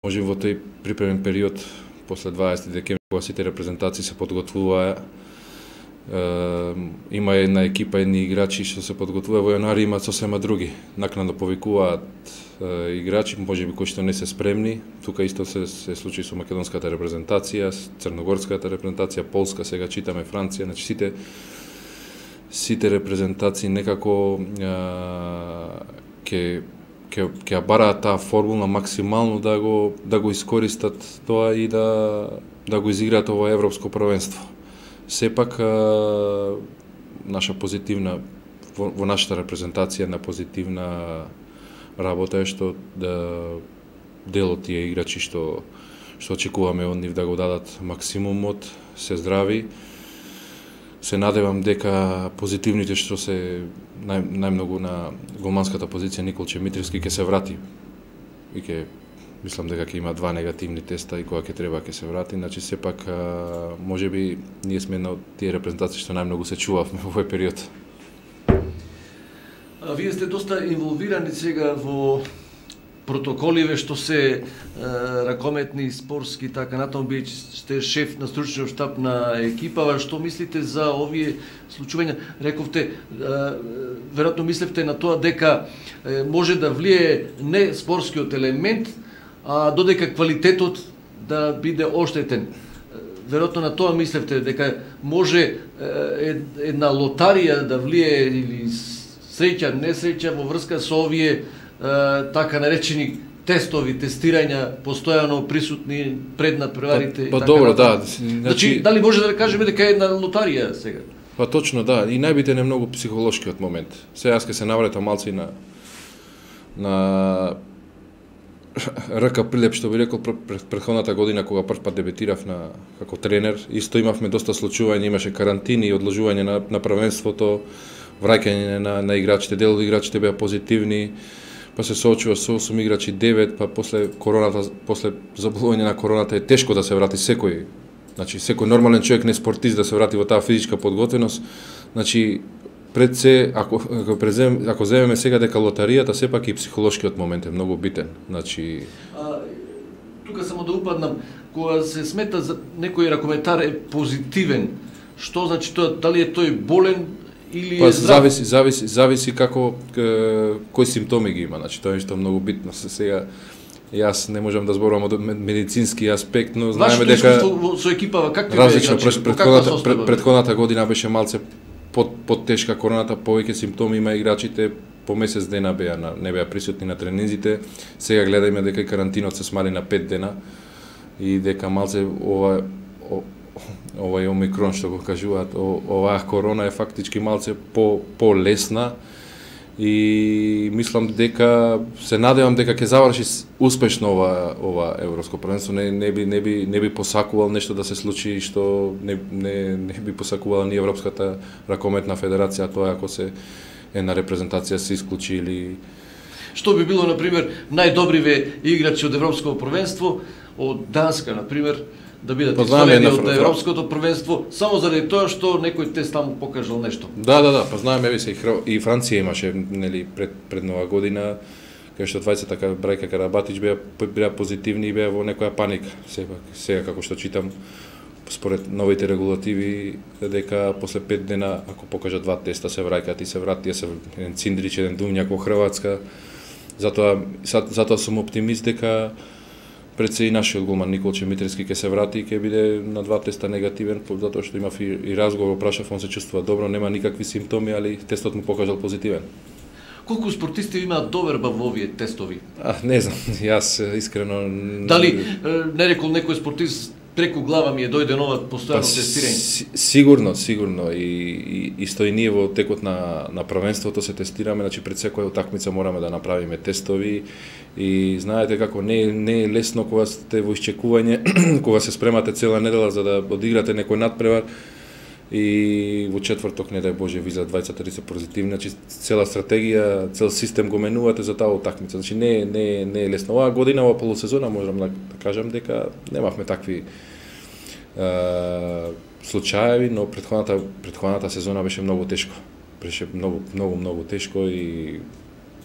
Може во тој припремен период после 20 декември кога сите репрезентации се подготвуваа, има една екипа, едни играчи што се подготвува во јануари, имаат сосема други. Накнадно повикуваат играчи, можеби кои што не се спремни. Тука исто се случи со македонската репрезентација, црногорската репрезентација, Полска, сега читаме Франција, значи сите репрезентации некако ќе ја бараат таа формула максимално да го искористат тоа и да го изиграат ово европско првенство. Сепак наша позитивна во нашата репрезентација на позитивна работа е што дел од тие играчи што очекуваме од нив да го дадат максимумот, се здрави. Се надевам дека позитивните што се најмногу на голманската позиција Николче Митревски ќе се врати. И мислам дека ќе има 2 негативни теста и кога ќе треба ќе се врати. Значи сепак можеби ние сме една од тие репрезентации што најмногу се чувавме во овој период. Вие сте доста инволвирани сега во протоколиве што се ракометни, спортски, така натаму, бидејќи сте шеф на стручниот штаб на екипава, што мислите за овие случувања? Рековте, веројатно мислевте на тоа дека може да влие не спортскиот елемент, а додека квалитетот да биде оштетен. Веројатно на тоа мислевте, дека може една лотарија да влие или среќа, несреќа во врска со овие така наречени тестови, тестирања постојано присутни пред надпреварите. Па добро, да. Значи, дали може да кажеме дека е една лотарија сега? Па точно, да. И најбитен е многу психолошкиот момент. Сега ќе се навратам малци на РК Прилеп, што би рекол претходната година кога прв пат дебитирав како тренер, исто имавме доста случувања, имаше карантини и одложување на првенството, враќање на играчите, дел од играчите беа позитивни, па се соочува со 8 играчи 9, па после заболување на короната е тешко да се врати секој. Значи секој нормален човек, не спортист, да се врати во таа физичка подготвеност. Значи пред се ако земеме сега дека лотаријата, сепак и психолошкиот момент е многу битен. Значи тука само да упаднам, кога се смета за некој ракометар е позитивен, што значи тоа, дали е тој болен или е здрав? Зависи кои симптоми ги има. Значи тоа е што многу битно. Сега јас не можам да зборувам од медицински аспект, но знаеме дека со екипава как различно претходната година беше малце поттешка короната, повеќе симптоми има играчите, по месец дена не беа присутни на тренинзите. Сега гледајме дека и карантинот се смали на 5 дена и дека малце овај омикрон што го кажуваат, оваа корона е фактички малце по-лесна и мислам дека се надевам дека ќе заврши успешно ова европско првенство. Не би посакувал нешто да се случи што не би посакувала ни Европската ракометна федерација, тоа ако се една репрезентација се исклучи или што би било на пример најдобриве играчи од европското првенство од Данска на пример да бидат извадени од европското првенство само заради тоа што некој тест таму покажал нешто. Да, па знаеме и Франција имаше нели пред нова година кај што двајцата брајка Карабатич беа позитивни и беа во некоја паника. Сега како што читам според новите регулативи дека после 5 дена ако покажат 2 теста се враќаат и се вратија се еден Циндрич, еден Думњак во Хрватска. Затоа сум оптимист дека пред се и нашиот голман Николче Митревски ќе се врати и ќе биде на 2 теста негативен, затоа што имав и разговор, прашав, он се чувствува добро, нема никакви симптоми, али тестот му покажал позитивен. Колку спортисти имаат доверба во овие тестови? Не знам, јас искрено... Дали не рекол некој спортист преку глава ми е дојденова постојано тестирање? Сигурно. И исто и ние во текот на првенството се тестираме, значи пред секоја утакмица мораме да направиме тестови и знаете како не е лесно кога сте во исчекување, кога се спремате цела недела за да одиграте некој надпревар и во четврток, не дај Боже, визат 20-30 позитивни, значи цела стратегија, цел систем го менувате за таа утакмица. Значи не е лесно. Оваа година, оваа полусезона, можам да кажам дека немавме такви случаеви, но претходната сезона беше многу тешко. Беше многу тешко и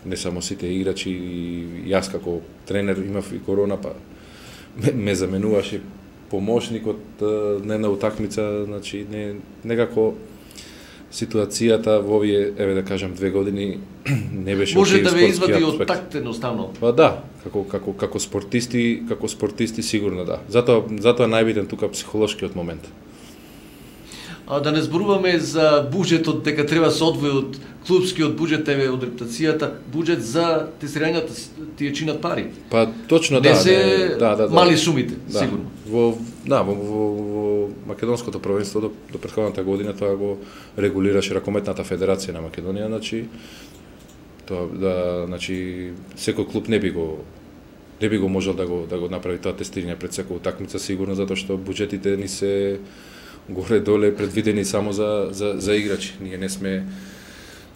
не само сите играчи, и јас како тренер имав и корона, па ме заменуваше помошникот на една утакмица, значи некако ситуацијата во овие, еве да кажам, 2 години не беше може окей да ве извади спортски од аспект. такт едноставно. Па да, како спортисти сигурно да. Затоа најбитен тука психолошкиот момент. А да не зборуваме за буџетот, дека треба се одвои од клубскиот буџет, еве од рептацијата, буџет за тестирањата тие чинат пари. Па точно Не да, се да. мали сумите, Да. сигурно. Во македонското провенство до претходната година тоа го регулираше ракометната федерација на Македонија, значи секој клуб не би го можел да го направи тоа тестирање пред секоја утакмица, сигурно затоа што буџетите ни се горе-доле предвидени само за играчи. Ние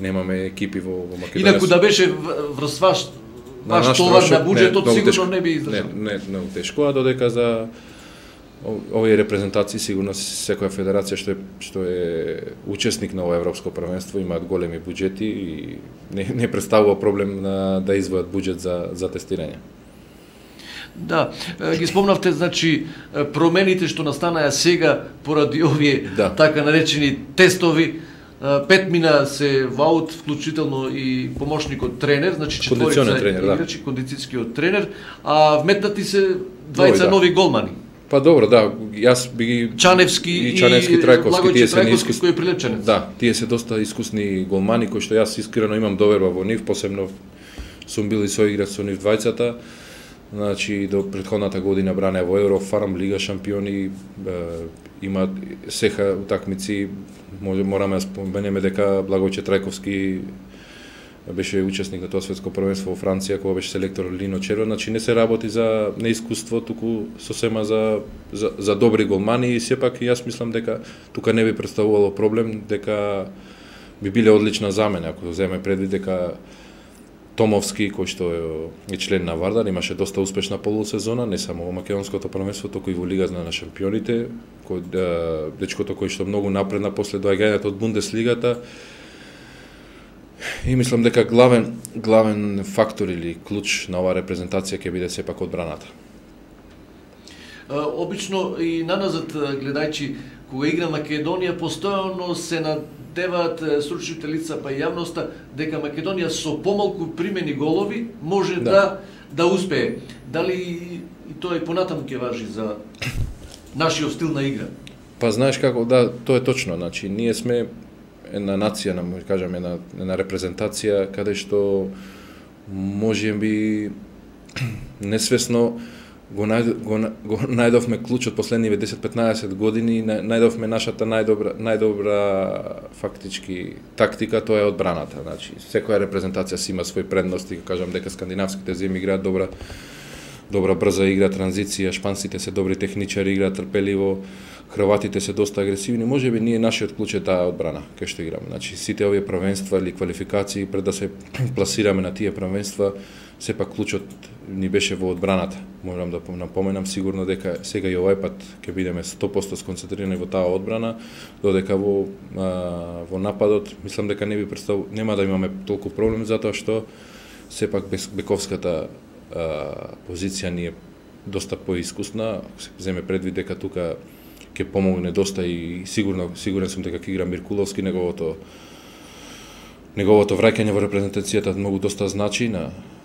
немаме екипи во Македонија. Инаку да беше врз ваш товар на буџетот, сигурно не би издржал. Не, многу тешко, а додека за овие репрезентации сигурно секоја федерација што е учесник на ова европско првенство имаат големи буџети и не представува проблем да извојат буџет за тестирање. Да, ги спомнавте, значи, промените што настанаа сега поради овие така наречени тестови. 5 мина се во аут, вклучително и помошникот тренер, значи четворица играчи, кондицијскиот тренер, а вметнати се двајца нови голмани. Па добро, да, јас би ги Чаневски и Трајковски, тие се Трајковски кој е прилепченец. Да, тие се доста искусни голмани кои што јас искрено имам доверба во нив, посебно сум бил и соиграч со нив двајцата. Значи до претходната година бране во Еврофарм, Лига шампиони, имаат сеха утакмици, мораме да споменеме дека Благојче Трајковски беше учесник на тоа светско првенство во Франција, кога беше селектор Лино Червен, значи не се работи за неискуство, туку сосема за добри голмани и сепак јас мислам дека тука не би представувало проблем, дека би биле одлична замена, ако земе предвид дека Томовски, кој што е член на Вардар, имаше доста успешна полусезона, не само во македонското првенство, туку и во Лигата на шампионите, дечкото кој што многу напредна после доаѓањето од Бундеслигата. И мислам дека главен фактор или клуч на оваа репрезентација ќе биде сепак одбраната. Обично и наназад гледајќи, кога игра Македонија, постојано се надеваат стручните лица па и јавноста дека Македонија со помалку примени голови може да успее. Дали и тоа и понатаму ќе важи за нашиот стил на игра? Па знаеш како, да, тоа е точно, значи ние сме една нација, да кажам, една репрезентација каде што можеби несвесно го најдовме клучот последниве 10-15 години, најдовме нашата најдобра фактички тактика, тоа е одбраната. Значи, секоја репрезентација си има свои предности, кажам дека скандинавските земји играат добра брза игра, транзиција, шпанците се добри техничари, играат трпеливо, хрватите се доста агресивни, можеби ние нашиот клуч е таа одбрана кај што играме. Значи сите овие првенства или квалификации пред да се пласираме на тие првенства, сепак клучот ни беше во одбраната. Морам да напоменам сигурно дека сега и овај пат ќе бидеме 100% сконцентрирани во таа одбрана, додека во нападот мислам дека нема да имаме толку проблем затоа што сепак бековската позиција ни е доста поискусна, се земе предвид дека тука ќе помогне доста и сигурен сум дека ќе игра Миркуловски, неговото враќање во репрезентацијата многу доста значи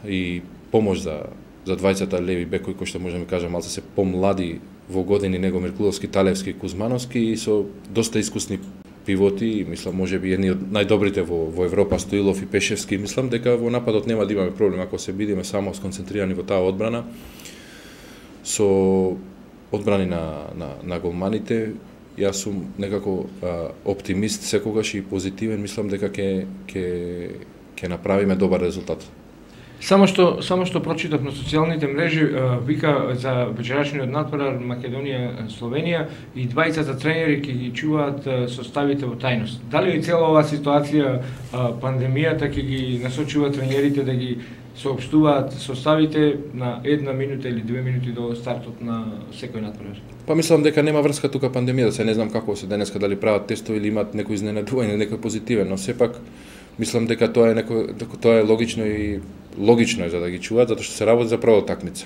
и помош за двајцата леви бекови кои што можеме кажа малце се помлади во години него Миркуловски, Талевски и Кузмановски и со доста искусни пивоти, мислам можеби едни од најдобрите во Европа, Стоилов и Пешевски, мислам дека во нападот нема да имаме проблем ако се бидеме само сконцентрирани во таа одбрана со одбрани на голманите. Јас сум некако оптимист секогаш и позитивен, мислам дека ќе направиме добар резултат. Само што прочитав на социјалните мрежи, вика за вечерашниот натпревар Македонија Словенија и двајцата тренери ќе ги чуваат составите во тајност. Дали и цела оваа ситуација пандемијата ќе ги насочува тренерите да ги соопштуваат составите на 1 минута или 2 минути до стартот на секој натпревар? Па мислам дека нема врска тука пандемијата, се не знам како се денеска дали прават тестови или имаат некој изненадување, некој позитивен, но сепак мислам дека тоа е логично е за да ги чуваат, затоа што се работи за прва такмица.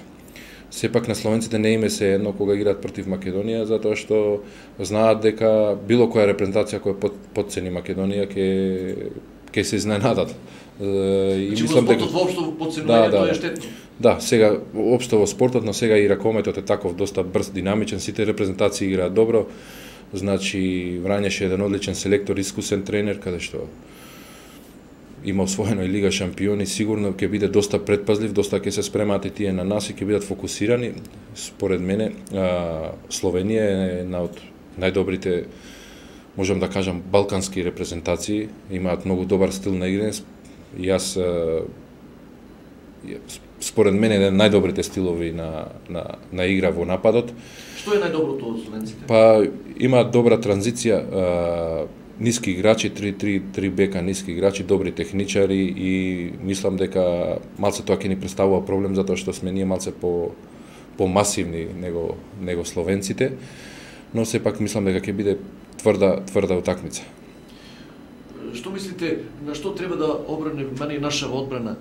Сепак на словенците не име се едно кога играат против Македонија, затоа што знаат дека било која репрезентација која потцени Македонија ќе се изненадат. И мислам дека воопшто потценување тоа е штетно. Да, сега општо во спортот, но сега и ракометот е таков доста брз, динамичен, сите репрезентации играат добро. Значи Врањаш е еден одличен селектор, искусен тренер, каде што има освоено и Лига шампиони, сигурно ќе биде доста предпазлив, доста ќе се спремаат и тие на нас и ќе бидат фокусирани. Според мене, Словенија е една од најдобрите, можам да кажам, балкански репрезентации, имаат многу добар стил на играње. И јас според мене еден најдобрите стилови на игра во нападот. Што е најдоброто од словенците? Па имаат добра транзиција, ниски играчи, 3 бека ниски играчи, добри техничари и мислам дека малце тоа ќе ни представува проблем затоа што сме ние малце по-масивни него словенците, но сепак мислам дека ќе биде тврда утакмица. Што мислите, на што треба да обране внимание нашава одбрана?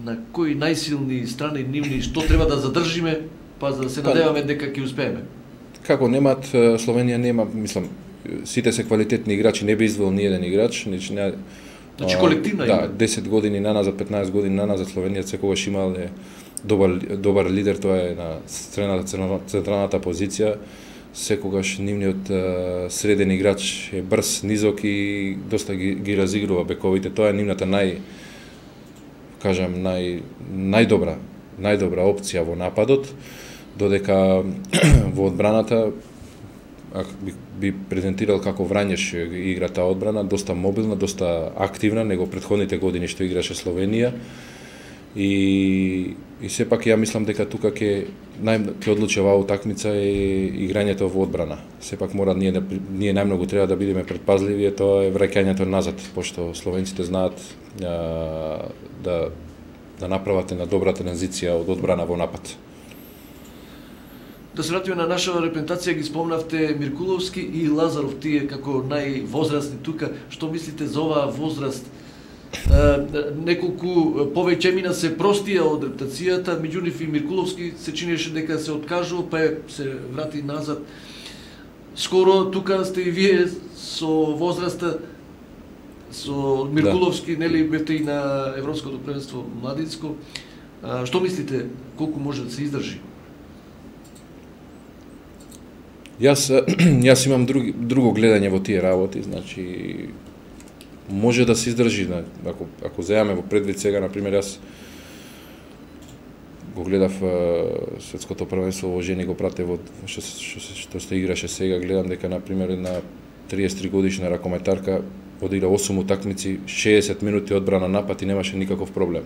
На кои најсилни страни нивни, што треба да задржиме, па за да се надеваме дека ќе успееме? Како немаат, Словенија нема, мислам, сите се квалитетни играчи, не би извел ни еден играч, Значи колективна игра. Да, 10 години наназад, 15 години наназад Словенија секогаш имале добар лидер, тоа е на централната позиција. Секогаш нивниот среден играч е брз, низок и доста ги разигрува бековите. Тоа е нивната најдобра опција во нападот, додека во одбраната би презентирал како Врањаш игра таа одбрана, доста мобилна, доста активна, него претходните години што играше Словенија. И сепак ја мислам дека тука ќе одлучи оваа утакмица е играњето во одбрана. Сепак мора ние најмногу треба да бидеме предпазливи, тоа е враќањето назад, пошто словенците знаат да направат една добра транзиција од одбрана во напад. Да се вратиме на нашава репрезентација, ги спомнавте Миркуловски и Лазаров, тие како највозрастни тука. Што мислите за оваа возраст? Неколку повеќе мина се простија од репрезентацијата, меѓу нив и Миркуловски се чинеше дека се откажува, па се врати назад. Скоро тука сте и вие со возраста, со Миркуловски, нели бевте и на Европското првенство младинско. Што мислите, колку може да се издржи? Јас имам друго гледање во тие работи, значи може да се издржи, ако земаме во предвид сега, например, јас го гледав светското првенство во жени, го прате во што се играше сега, гледам дека например една 33 годишна ракометарка одигра 8 утакмици, 60 минути одбрана напад и немаше никаков проблем.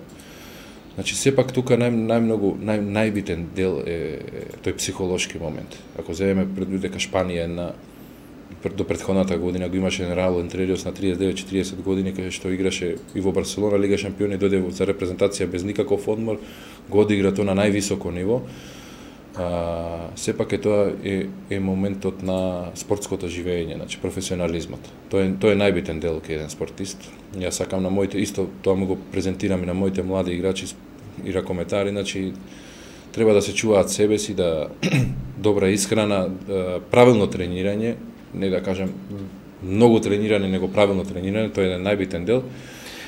Значи, сепак тука најбитен дел е тој психолошки момент. Ако земеме предвид дека Шпанија до претходната година го имаше Раул Ентрелиос на 39-40 години, каде што играше и во Барселона Лига шампиони, дојде за репрезентација без никаков одмор, го одигра тоа на највисоко ниво. Сепак тоа е моментот на спортското живење, значи професионализмот. Тоа е најбитен дел кај еден спортист. Јас сакам на моите, исто тоа му го презентирам и на моите млади играчи и ракометари, значи треба да се чуваат себе си, да добра исхрана, правилно тренирање, не да кажам многу тренирање, него правилно тренирање, тоа е еден најбитен дел.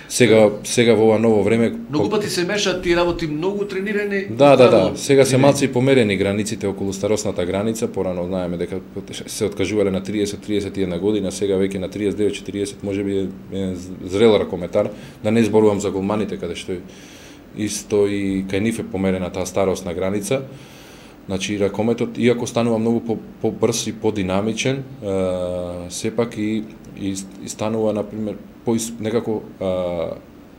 Сега во ова ново време многу пати се мешаат тие работи, многу тренирање. Да. Сега се малце и померени границите околу старосната граница, порано знаеме дека се откажувале на 30-31 година, сега веќе на 39-40 можеби е зрел ракометар, да не зборувам за голманите каде што исто и кај нив е померена таа старосна граница. Значи ракометот, иако станува многу побрз и подинамичен, сепак и станува, например, некако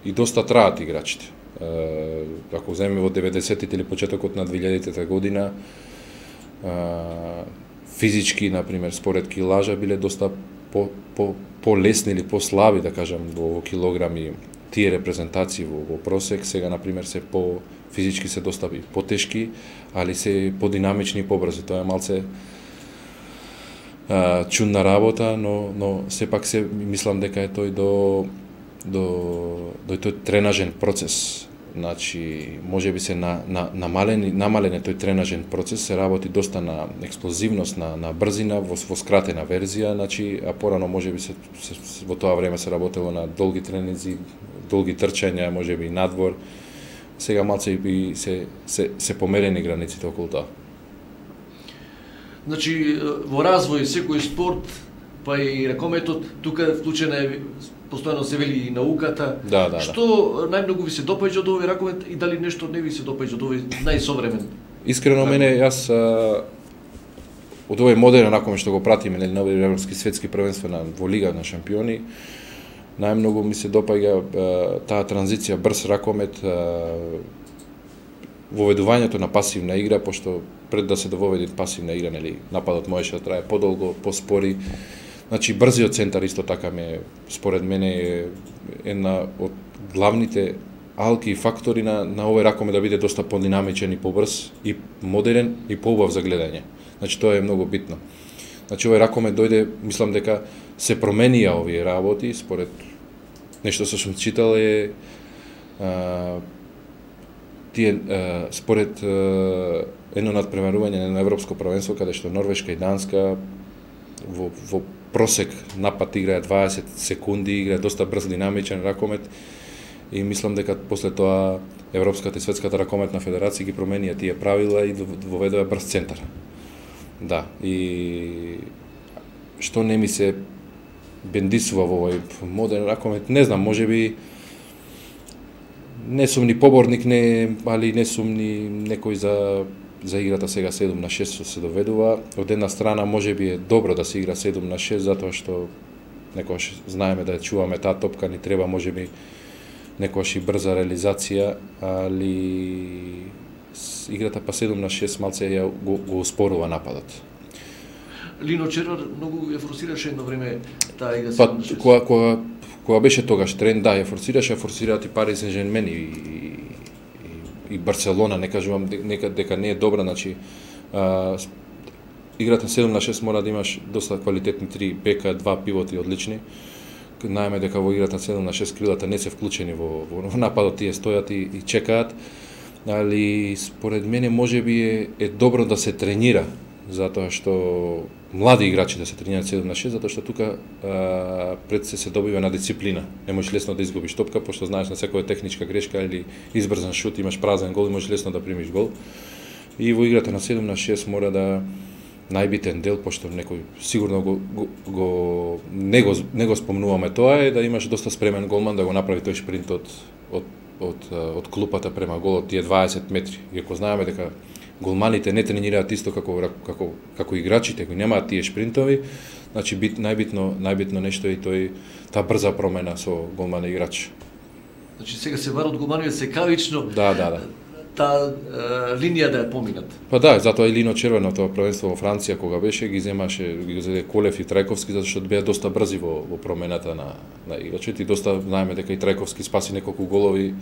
и доста траат играчите. Ако земеме во 90-тите или почетокот на 2000-та година, физички, например, според килажа биле доста по-лесни или по-слаби, да кажам, во килограми тие репрезентации во просек. Сега, например, се физички се доста потешки, али се подинамични и побрзи. Тоа е малце чудна работа, но сепак се мислам дека е тој до тој тренажен процес. Значи, може би се намален тој тренажен процес, се работи доста на експлозивност, на брзина, во скратена верзија, значи, а порано може би во тоа време се работело на долги тренинзи, долги трчања, може би надвор. Сега малце и се померени границите околу тоа. Значи, во развој секој спорт, па и ракометот, тука вклучена е постојано се вели и науката. Да. Што најмногу ви се допаѓа од овој ракомет и дали нешто не ви се допаѓа од овој најсовремен? Искрено мене, јас од овој модерен ракомет што го пратиме на овој европски светски првенства во Лига на шампиони, најмногу ми се допаѓа таа транзиција брз ракомет, воведувањето на пасивна игра, пошто пред да се дововеде пасивна игра, нели, нападот можеше да трае подолго, поспори. Значи, брзиот центар исто така според мене е една од главните алки и фактори на овој ракомет да биде доста подинамичен и побрз, и модерен, и поубав за гледање. Значи, тоа е многу битно. Значи, овој ракомет дојде, мислам дека се променија овие работи, според нешто што сум читал е според едно надпреварување на европско првенство, каде што Норвешка и Данска во просек напад играе 20 секунди, играе доста брз, динамичен ракомет, и мислам дека после тоа Европската и Светската ракометна федерација ги променија тие правила и воведува брз центар. Да, и што не ми се бендисува во овој модерен ракомет, не знам, можеби не сум ни поборник, али не сум ни некој за играта сега 7-6 што се доведува. Од една страна можеби е добро да се игра 7-6, затоа што некогаш знаеме да ја чуваме таа топка, ни треба можеби некогаш и брза реализација, али играта па 7-6 малце го успорува нападот. Лино Червар многу ја форсираше едно време таа игра 7-6. Кога беше тогаш тренд, да, ја форсираат и Пари Сен-Жермен и Барселона, не кажувам дека не е добра, значи играта 7-6 мора да имаш доста квалитетни 3 бека, 2 пивоти одлични. Знаеме дека во играта 7-6 крилата не се вклучени во нападот, тие стојат и чекаат, али според мене можеби е добро да се тренира, затоа што млади играчи да се тренираат 7-6, затоа што тука пред се добива на дисциплина. Не можеш лесно да изгубиш топка, пошто знаеш на секоја техничка грешка или избрзан шут имаш празен гол и можеш лесно да примиш гол. И во играта на 7-6 мора да најбитен дел, пошто некој сигурно не го спомнуваме тоа, е да имаш доста спремен голман да го направи тој шпринт од клупата према голот, тие 20 метри. Иако знаеме дека голманите не тренираат исто како играчите, кои немаат тие шпринтови, значи најбитно нешто е таа брза промена со голман играч. Значи сега се варат голманови секавично. Да. Таа линија да ја поминат. Па да, затоа и Лино Червар на тоа првенство во Франција кога беше ги земе Колев и Трајковски, затоа што беа доста брзи во промената на играчите и доста знаеме дека и Трајковски спаси неколку голови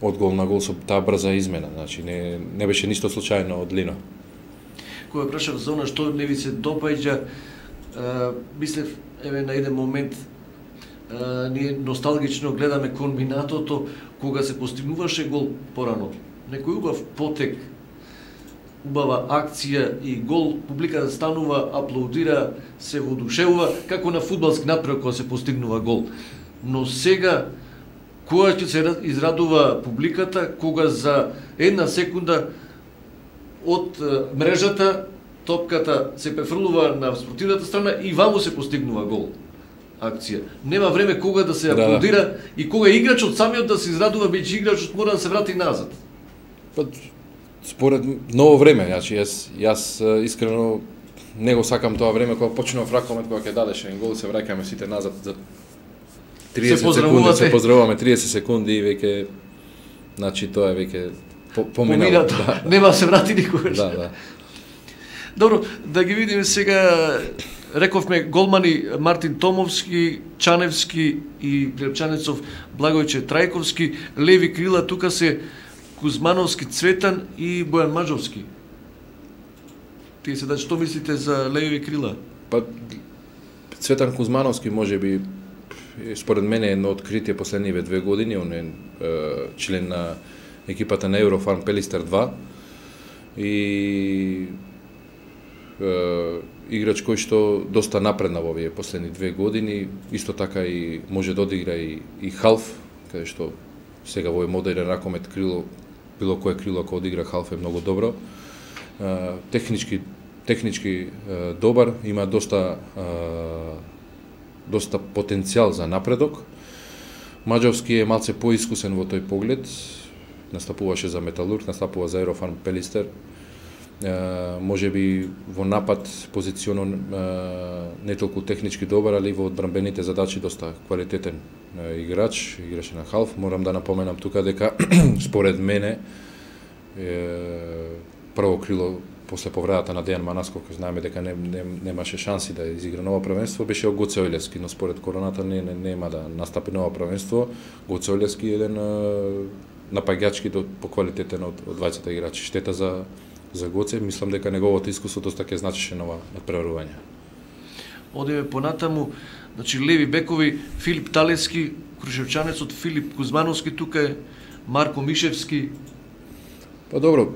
од гол на гол со таа брза измена, значи не беше ништо случајно од Лино. Кога прашав за она што не ви се допаѓа, мислев еве на еден момент ние носталгично гледаме комбинатото кога се постигнуваше гол порано. Некој убав потек, убава акција и гол, публиката станува, аплаудира, се воодушевува, како на фудбалски натпревар кога се постигнува гол. Но сега кога ќе се израдува публиката, кога за една секунда од мрежата топката се префрлува на спортивната страна и ваму се постигнува гол. Акција. Нема време кога да се аплодира и кога играчот самиот да се израдува, бидејќи играчот мора да се врати назад. Па според ново време, значи јас искрено не го сакам тоа време кога почнува ракомет, кога ќе дадеш еден гол, се враќаме сите назад за 30 секунди, се поздравуваме 30 секунди и веќе значи тоа е веќе поминало. Да. Нема се врати никогаш. Да. Добро, да ги видиме сега. Рековме голмани Мартин Томовски, Чаневски и Прилепчанецов Благојче Трајковски, леви крила тука се Кузмановски Цветан и Бојан Маџовски. Тие се што мислите за леви крила? Па Цветан Кузмановски можеби според мене едно откритие последниве 2 години, он е член на екипата на Eurofarm Пелистер 2 и играч кој што доста напредна во овие последни 2 години, исто така и може да одигра и халф, каде што сега во модерен ракомет крило, било кое крило ако одигра халф е многу добро. Технички добар, има доста потенцијал за напредок. Маđовски е малце поискусен во тој поглед, настапуваше за Металург, настапува за Eurofarm Пелистер. Може би во напад позиционно не толку технички добар, али во одбранбените задачи доста квалитетен играч, играше на халф. Морам да напоменам тука дека според мене прво крило после повредата на Дејан Манасков, кој знаеме дека немаше шанси да изигра ново првенство, беше Гоце Ојлевски, но според короната нема да настапи ново првенство. Гоце Ојлевски е еден напаѓачки по квалитетен од двајцата играчи. Штета за Гоце, мислам дека неговото искуство доста ќе значеше нова надпреварување. Одиме понатаму, значи леви бекови Филип Талески, крушевчанецот Филип Кузмановски, тука е Марко Мишевски. Па добро,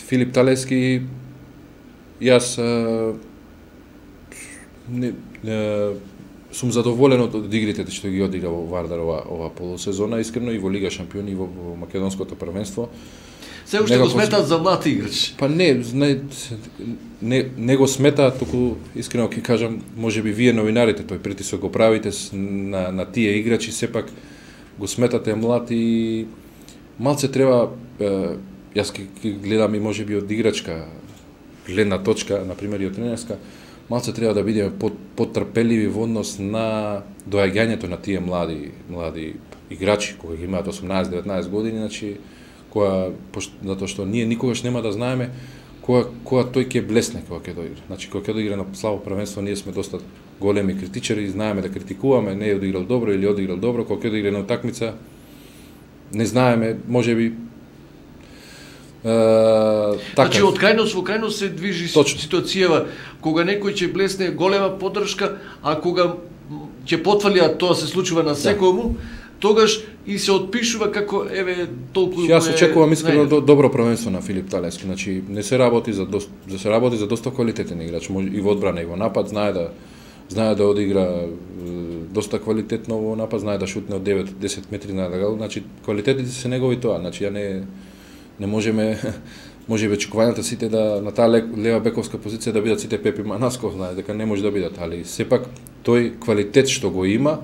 Филип Талески, јас сум задоволен од игрите што ги одигра во Вардар ова полусезона, искрено и во Лига шампиони и во македонското првенство. Се уште го сметаат за млад играч. Па не го сметаат, туку искрено ќе кажам, можеби вие новинарите тој притисок го правите на тие играчи, сепак го сметате млад и малце треба, јас ќе гледам и можеби од играчка гледна точка, например и од тренерска, малце треба да бидеме потрпеливи во однос на доаѓањето на тие млади играчи кои ги имаат 18-19 години, значи затоа што ние никогаш нема да знаеме кога тој ќе блесне кога ќе доигра. Значи кога ќе доигра на слабо првенство, ние сме доста големи критичари, знаеме да критикуваме, не е одиграл добро или одиграл добро, кога ќе доигра на утакмица не знаеме, можеби Значи од крајност во крајност се движи ситуацијава кога некој ќе блесне голема поддршка, а кога ќе потврди, а тоа се случува на секому, тогаш и се отпишува како еве толку. Јас очекувам искрено добро првенство на Филип Талески, значи не се работи за доста квалитетен играч, и во одбрана и во напад, знае да одигра доста квалитетно во напад, знае да шутне од 9-10 метри на гол, значи квалитетите се негови тоа, значи ја не можеме очекувањата сите да на таа лева бековска позиција да бидат сите Пепи Манасков, знае дека не може да бидат, али сепак тој квалитет што го има,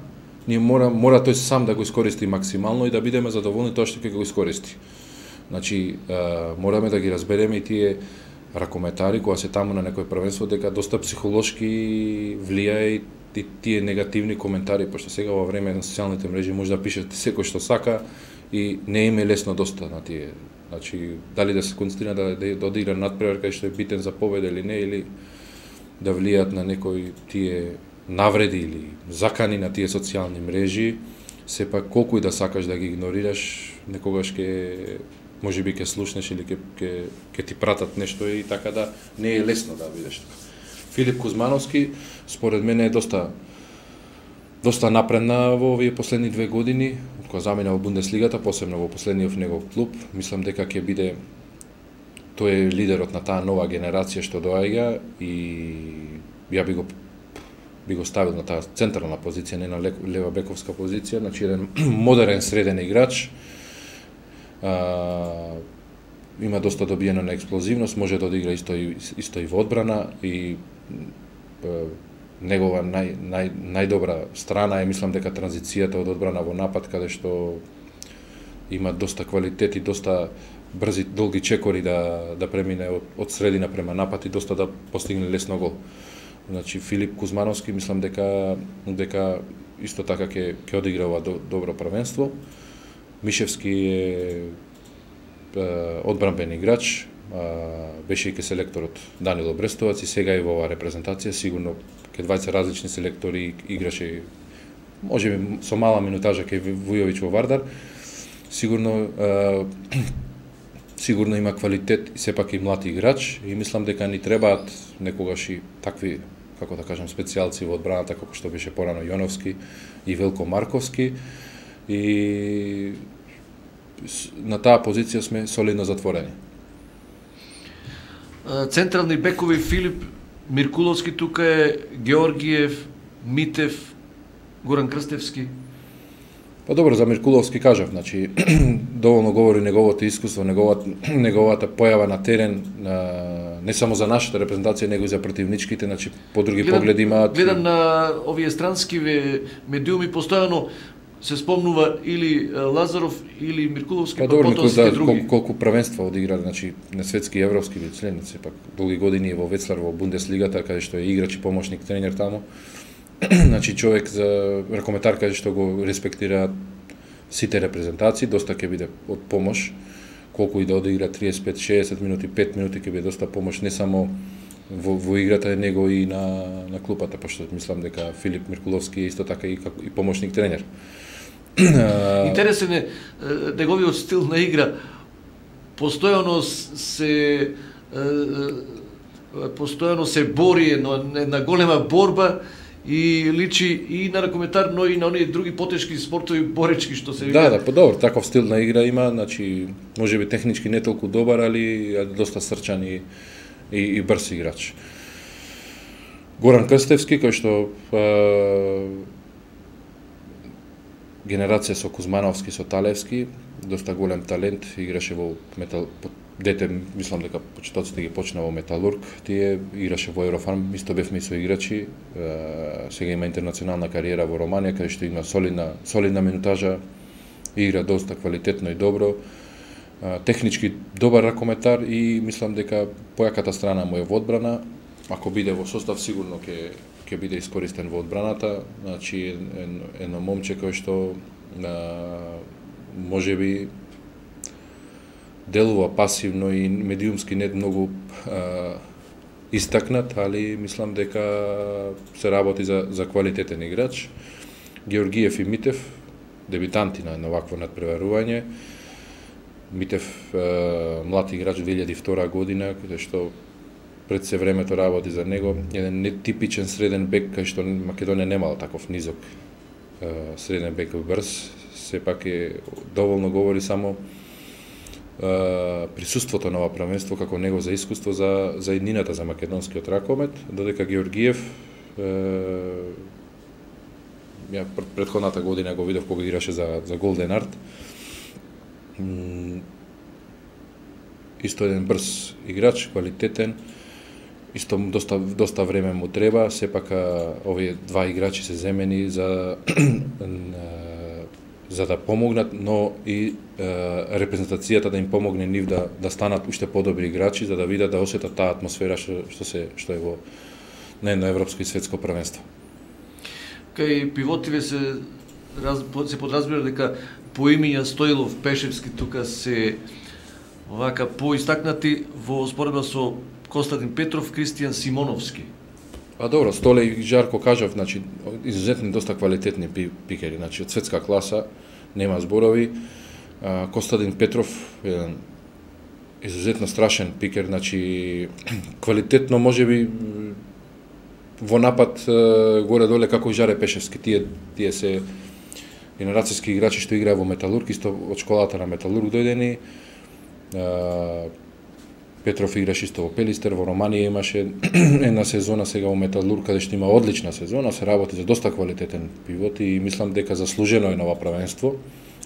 ние мора тој сам да го искористи максимално и да бидеме задоволни тоа што ќе го искористи. Значи, мораме да ги разбереме и тие ракометари кога се таму на некој првенство, дека доста психолошки влијае и тие негативни коментари, пошто сега во време на социјалните мрежи може да пишете секој што сака и не им е лесно доста на тие. Значи, дали да се концентрира да одигра надпревар кај што е битен за победа или не, или да влијаат на некои тие навреди или закани на тие социјални мрежи, сепак колку и да сакаш да ги игнорираш, некогаш можеби ќе слушнеш или ќе ти пратат нешто и така да не е лесно да бидеш така. Филип Кузмановски според мене е доста напредна во овие последни 2 години, кога замина во Бундеслигата, посебно во последниот негов клуб. Мислам дека ќе биде тој е лидерот на таа нова генерација што доаѓа и ја би го ставил на таа централна позиција, не на лева бековска позиција, значи еден модерен среден играч. Има доста добиено на експлозивност, може да одигра исто и во одбрана и негова најдобра страна е, мислам дека транзицијата од одбрана во напад, каде што има доста квалитет и доста брзи, долги чекори да премине од средина према напад и доста да постигне лесно гол. Значи Филип Кузмановски мислам дека исто така ќе одигра ова добро првенство. Мишевски е одбранбен играч, беше и ке селекторот Данило Брестовац и сега и во оваа репрезентација, сигурно ке двајца различни селектори играше, можеби со мала минутажа ке Вујовиќ во Вардар, сигурно има квалитет и сепак и млад играч и мислам дека ни требаат некогаш и такви како да кажам, специјалци во одбраната, како што беше порано Јоновски и Велко Марковски. И на таа позиција сме солидно затворени. Централни бекови Филип Миркуловски, тука е Георгиев, Митев, Горан Крстевски. Па добро, за Миркуловски кажав, значи доволно говори неговото искуство, неговата појава на терен, не само за нашата репрезентација, него и за противничките, значи по други погледи имаат. Гледам на овие странски медиуми, постојано се спомнува или Лазаров или Миркуловски, па добро, потоа сите други. колку првенства одигра, значи на светски и европски член, сепак долги години во Вецлар во Бундеслигата, каде што е играч и помошник тренер таму. Значи човек за ракометар каде што го респектираат сите репрезентации, доста ќе биде од помош, колку и да одигра 35-60 минути, 5 минути ќе биде доста помош не само во играта, него и на клупата, пошто мислам дека Филип Миркуловски е исто така и помошник тренер. Интересен е неговиот стил на игра. Постојано се бори на голема борба и личи и на ракометар, но и на оние други потешки спортови боречки што се вика. Да, подобар, таков стил на игра има, значи можеби технички не толку добар, али доста срчан и брз играч. Горан Крстевски, кој што генерација со Кузмановски, со Талевски, доста голем талент, играше во дете, мислам дека почетоците ги почна во Металург, тие играше во Еврофарм, исто бевме и со играчи, сега има интернационална кариера во Романија, каде што има солидна минутажа, игра доста квалитетно и добро, технички добар ракометар и мислам дека појаката страна му е во одбрана, ако биде во состав сигурно ќе биде искористен во одбраната, значи едно момче кој што можеби делува пасивно и медиумски не многу истакнат, али мислам дека се работи за квалитетен играч. Георгиев и Митев, дебитанти на вакво надпреварување. Митев млад играч 2002 година, каде што пред се времето работи за него, еден нетипичен среден бек, кај што Македонија немала таков низок среден бек брз, сепак е доволно говори само присуството на ова првенство како него за искуство за иднината за македонскиот ракомет, додека Георгиев ја претходната година го видов кога играше за Голден Арт. Исто еден брз играч, квалитетен, исто доста време му треба, сепак овие два играчи се земени за да помогнат, но и репрезентацијата да им помогне нив да станат уште подобри играчи, за да видат, да осетат таа атмосфера што е во на едно европско и светско првенство. Кај пивотиве се подразбира дека поимиња Стоилов, Пешевски тука се вака поистакнати во споредба со Константин Петров, Кристијан Симоновски. А добро, Столе и Жарко кажав, значи изузетни доста квалитетни пикери, значи од светска класа, нема зборови. Константин Петров еден изузетно страшен пикер, значи квалитетно можеби во напад горе-доле како и Жаре Пешевски, тие се генерацијски играчи што играа во Металург, исто од школата на Металург дојдени. Петров играше исто во Пелистер, во Романија имаше една сезона, сега во Металург, каде што има одлична сезона, се работи за доста квалитетен пивот и мислам дека заслужено е на ова првенство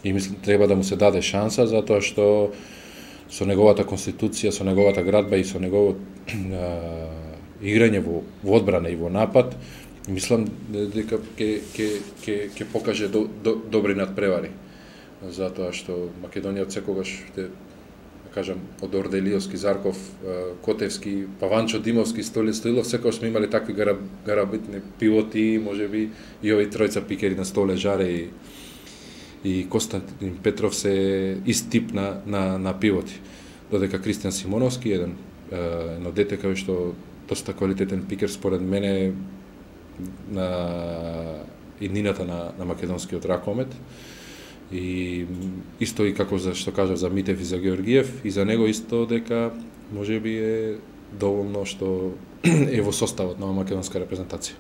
и мислам треба да му се даде шанса, затоа што со неговата конституција, со неговата градба и со неговото играње во одбрана и во напад, мислам дека ќе покаже добри надпревари. Затоа што Македонија од секогаш кажам, од Орделиовски, Зарков, Котевски, Паванчо, Димовски, Стоилов, секогаш сме имали такви гарабитни пивоти, можеби и овие тројца пикери на Столе, Жаре и Константин Петров се ист тип на пивоти. Додека Кристијан Симоновски, едно дете кај што доста квалитетен пикер според мене на иднината на македонскиот ракомет. И исто и како што кажав за Митев и за Георгиев, и за него исто дека можеби е доволно што е во составот на македонска репрезентација.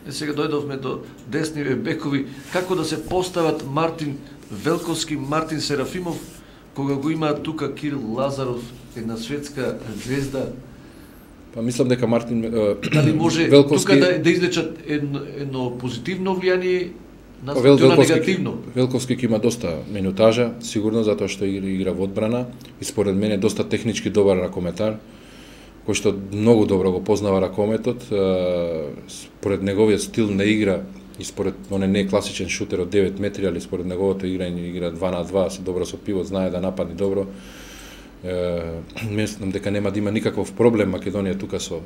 Сега дојдовме до десниве бекови, како да се постават Мартин Велковски, Мартин Серафимов, кога го има тука Кирил Лазаров, една светска звезда. Па мислам дека Мартин дали може Велковски тука да излечат едно позитивно влијание на негативно? Велковски ќе има доста минутажа, сигурно затоа што игра во одбрана и според мене доста технички добар ракометар, кој што многу добро го познава ракометот, според неговиот стил на игра и според он не е класичен шутер од 9 метри, али според неговото играње игра 2 на 2, се добро со пивот, знае да нападне добро. Мислам дека нема да има никаков проблем Македонија тука со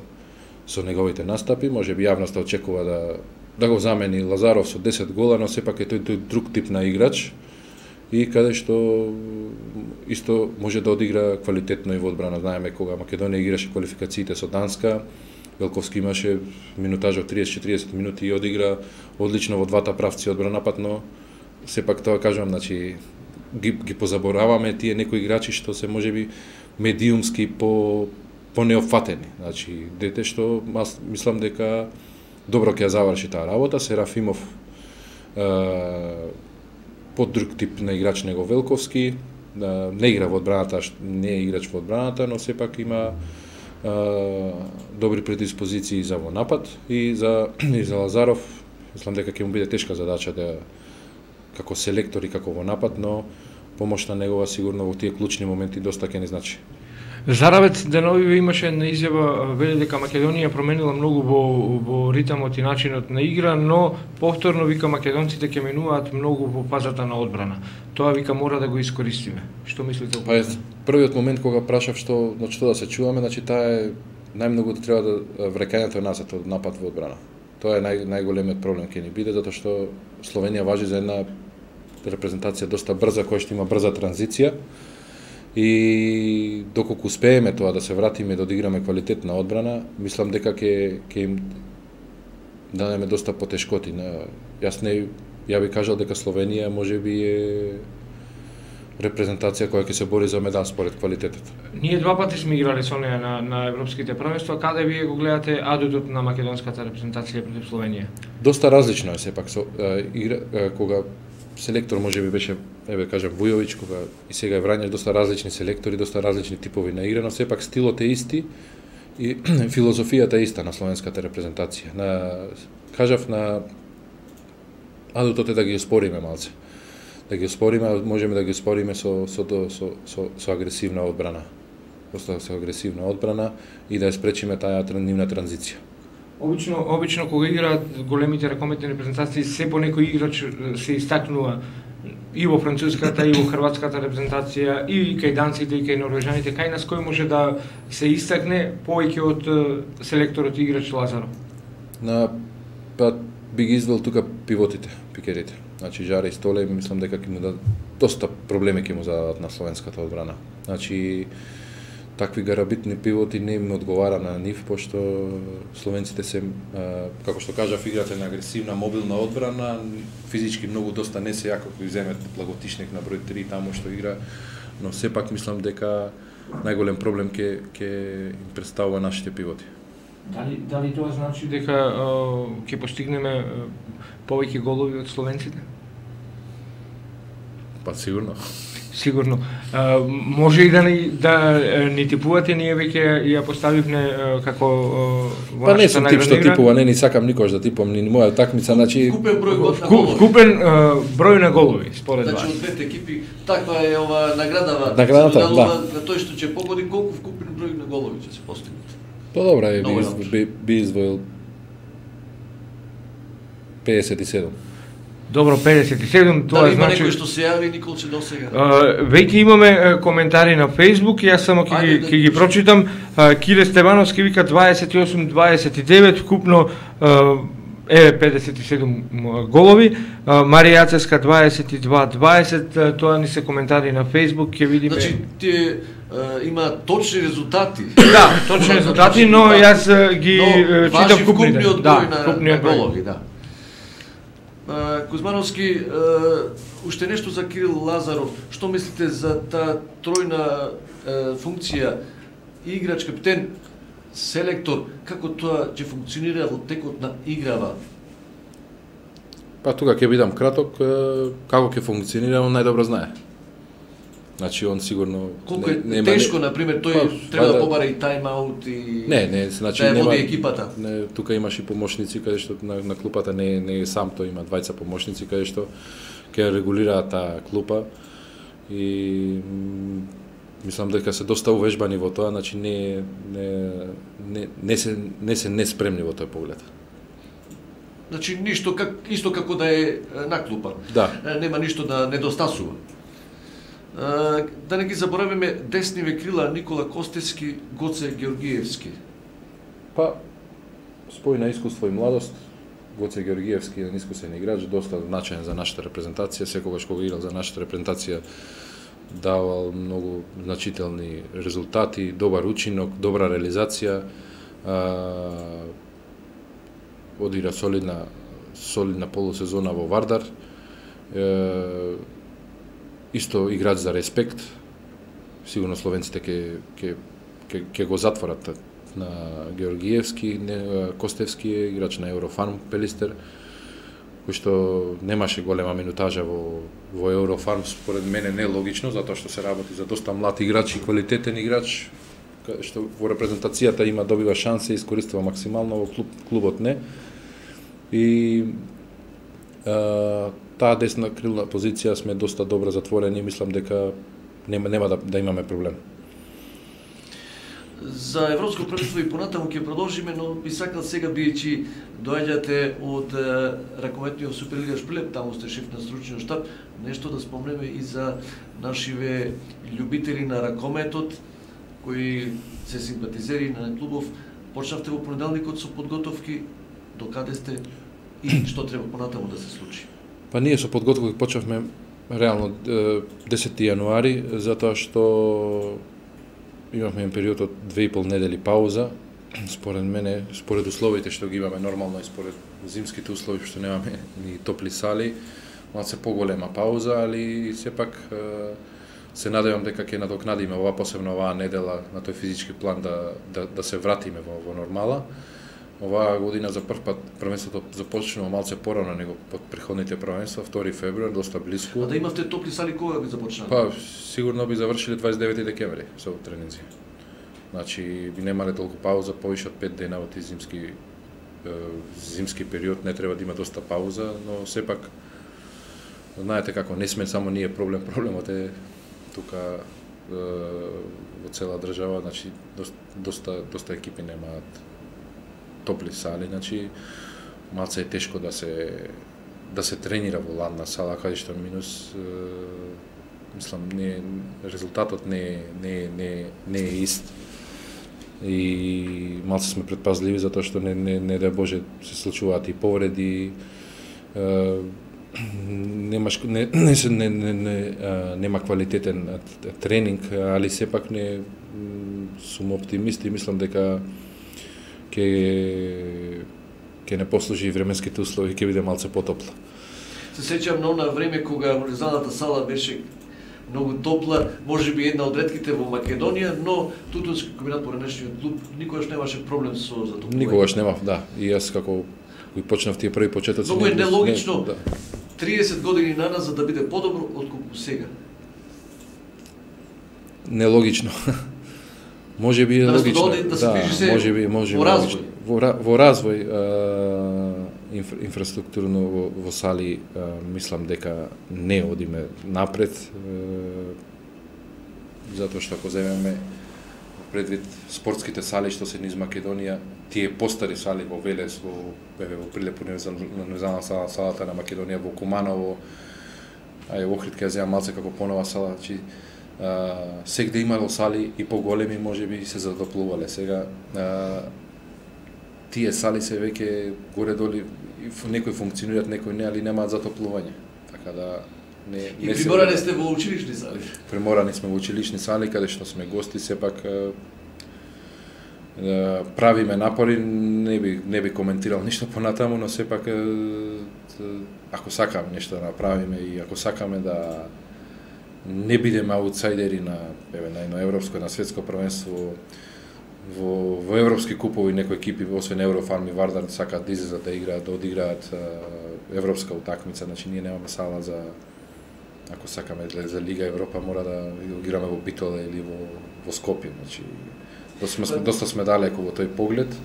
неговите настапи, можеби јавноста очекува да го замени Лазаров со 10 гола, но сепак е тој друг тип на играч и каде што исто може да одигра квалитетно и во одбрана. Знаеме кога Македонија играше квалификациите со Данска, Велковски имаше минутажа од 30-40 минути и одигра одлично во двата правци одбрана напад, но сепак тоа кажувам, значи ги позабораваме тие некои играчи што се можеби медиумски по неофатени. Значи дете што мислам дека добро ќе ја заврши таа работа. Серафимов под друг тип на играч него Велковски, не игра во одбраната, не е играч во одбраната, но сепак има добри предиспозиции за во напад и за Лазаров. Мислам дека ќе му биде тешка задача да како селектор и како во напад, но помошта негова сигурно во тие клучни моменти доста ќе не значи. Заравец деновиве имаше една изјава, вели дека Македонија променила многу во ритмот и начинот на игра, но повторно вика македонците ќе менуваат многу во фазата на одбрана. Тоа вика мора да го искористиме. Што мислите? Па првиот момент кога прашав што да се чуваме, значи таа е најмногу треба да врекањето назад од напад во одбрана. Тоа е најголемиот проблем ќе ни биде, затоа што Словенија важи за една репрезентација доста брза, која што има брза транзиција. И доколку успееме тоа да се вратиме да одиграме квалитетна одбрана, мислам дека ќе им дадеме доста потешкоти. Ја би кажал дека Словенија можеби е репрезентација која ќе се бори за медал според квалитетот. Ние два пати сме играли со неа на европските првенства. Каде вие го гледате адутот на македонската репрезентација против Словенија? Доста различно е сепак кога селектор можеби беше, кажам, Вујовиќ, кога и сега е Врањаш, доста различни селектори, доста различни типови на игра, но сепак стилот е исти и филозофијата е иста на словенската репрезентација. Кажав на адутот е да ги оспориме малце. Да ги оспориме, можеме да ги оспориме со агресивна одбрана. Доста со агресивна одбрана и да ја спречиме таа нивна транзиција. Обично кога играат големите ракометни репрезентации, се по некој играч се истакнува и во француската и во хрватската репрезентација и кај данците и кај норвежаните. Кај нас кој може да се истакне повеќе од селекторот и играч Лазаров? Па би ги извел тука пивотите, пикерите. Значи Жаре и Столе, мислам дека ќе му дадат доста проблеми ќе му зададат на словенската одбрана. Значи такви гарабитни пивоти не им одговара на нив, пошто словенците се, како што кажав, играте на агресивна, мобилна одбрана, физички многу доста не се јако кој земет Благотишник на број 3 таму што игра, но сепак мислам дека најголем проблем ќе им представува нашите пивоти. Дали тоа значи дека ќе постигнеме повеќе голови од словенците? Па сигурно. Сигурно. Може и да ни типувате, ние веќе ја поставивме како во нашата најголема игра. Па не сум тип што типува, не ни сакам никош да типувам ни моја такмица, значи вкупен број на голови. Вкупен број на голови, според вас. Значи од двете екипи, таква е ова наградава. Наградата, да. На тој што ќе погоди колку вкупен број на голови ќе се постигнат. Па добра е, би извоил 57. Добро, 57, тоа дали значи... Дали има некој што се јави, Николче, досега? Веќе имаме коментари на Facebook, јас само ќе ги прочитам. Кире Стевановски вика 28-29, вкупно 57 голови. Марија Јацевска 22-20, тоа ни се коментари на Facebook, ќе видиме... Значи, тие има точни резултати. Да, точни резултати, но јас ги читам вкупните. Да, вкупниот број на голови, да. Кузмановски, уште нешто за Кирил Лазаров. Што мислите за таа тројна функција играч, капитен, селектор, како тоа ќе функционира во текот на играва? Па тука ќе бидам краток, како ќе функционира, он најдобро знае. Значи он сигурно колку е тешко, например, тој треба да побара и тайм-аут и не, значи да нема води екипата. Не, тука имаш и помошници каде што на клупата не е сам, тој има двајца помошници каде што ќе регулираат таа клупа и мислам дека се доста увежбани во тоа, значи не се неспремни во тој поглед. Значи ништо исто како да е на клупа. Да. Нема ништо да недостасува. Да не ги заборавиме десниве крила Никола Костевски, Гоце Георгиевски. Па спој на искуство и младост, Гоце Георгиевски е искусен играч, доста значаен за нашата репрезентација, секогаш кога играл за нашата репрезентација давал многу значителни резултати, добар учинок, добра реализација, одигра солидна полусезона во Вардар, исто играч за респект. Сигурно словенците ќе го затворат на Георгиевски. Костевски е играч на Еврофарм Пелистер, кој што немаше голема минутажа во Еврофарм, според мене нелогично, затоа што се работи за доста млад играч и квалитетен играч, што во репрезентацијата добива шанса и искористува максимално, во клубот не. И таа десна крилна позиција сме доста добро затворени, мислам дека нема да имаме проблем. За Европско првенство и понатаму ќе продолжиме, но би сакал сега, бијќи доаѓате од ракометниот Суперлига Шпилеп, таму сте шеф на стручниот штаб, нешто да спомнеме и за нашиве љубители на ракометот, кои се симпатизери на клубов. Почнавте во понеделникот со подготовки, докаде сте и што треба понатаму да се случи? Па ние со подготовки почнавме реално 10 јануари, затоа што имавме период од 2,5 недели пауза. Според мене, според условите што ги имаме нормално и според зимските услови што немаме ни топли сали, малце поголема пауза, али сепак се надевам дека ќе надокнадиме посебно оваа недела на тој физички план да се вратиме во нормала. Оваа година за прв пат првенството започнува малце порано него под претходните првенства, 2 февруар, доста блиску. А да имавте топли сали кога ги започнаа? Па сигурно би завршиле 29 декември со тренинзи. Значи би немале толку пауза, повише од 5 дена во тие зимски период, не треба да има доста пауза, но сепак знаете како, не сме само ние проблемот е тука во цела држава, значи доста екипи немаат топли сали, значи малце е тешко да се тренира во ладна сала, каде што минус мислам резултатот не е ист. И малце сме предпазливи затоа што не да Боже се случуваат и повреди. Нема квалитетен тренинг, али сепак сум оптимист и мислам дека ќе не послужи временските услови, ќе биде малце потопла. Се сеќавам на она време кога универзалната сала беше многу топла, можеби една од ретките во Македонија, но Тутунски комбинат по ранешниот клуб никогаш немаше проблем со затоплување. Никогаш немав, да. И јас како кој почнав тие први почетоци. Многу е нелогично 30 години наназад да биде подобро отколку сега. Нелогично. Може би е логично. Може во развој инфраструктурно во сали мислам дека не одиме напред, затоа што ако земеме предвид спортските сали што се низ Македонија, тие постари сали во Велес, во Прилеп универзална сала, салата на Македонија, во Куманово, Охрид ќе земам малце како понова сала, значи сегде имало сали и поголеми можеби се затоплувале. Сега тие сали се веќе горе-долу некои функционираат, некои не, али немаат затоплување. Така да и приморани сте во училишни сали. Приморани сме во училишни сали каде што сме гости, сепак правиме напори, не би коментирал ништо понатаму, но сепак ако сакаме нешто да направиме и ако сакаме да не бидеме аутсайдери на европско, на светско првенство, во европски купови некои екипи, освен Еврофарм и Вардар, сакаат да излезат да играат, да одиграат европска утакмица, значи ние немаме сала за, ако сакаме за Лига Европа, мора да играме во Битола или во Скопје, значи доста сме далеко во тој поглед.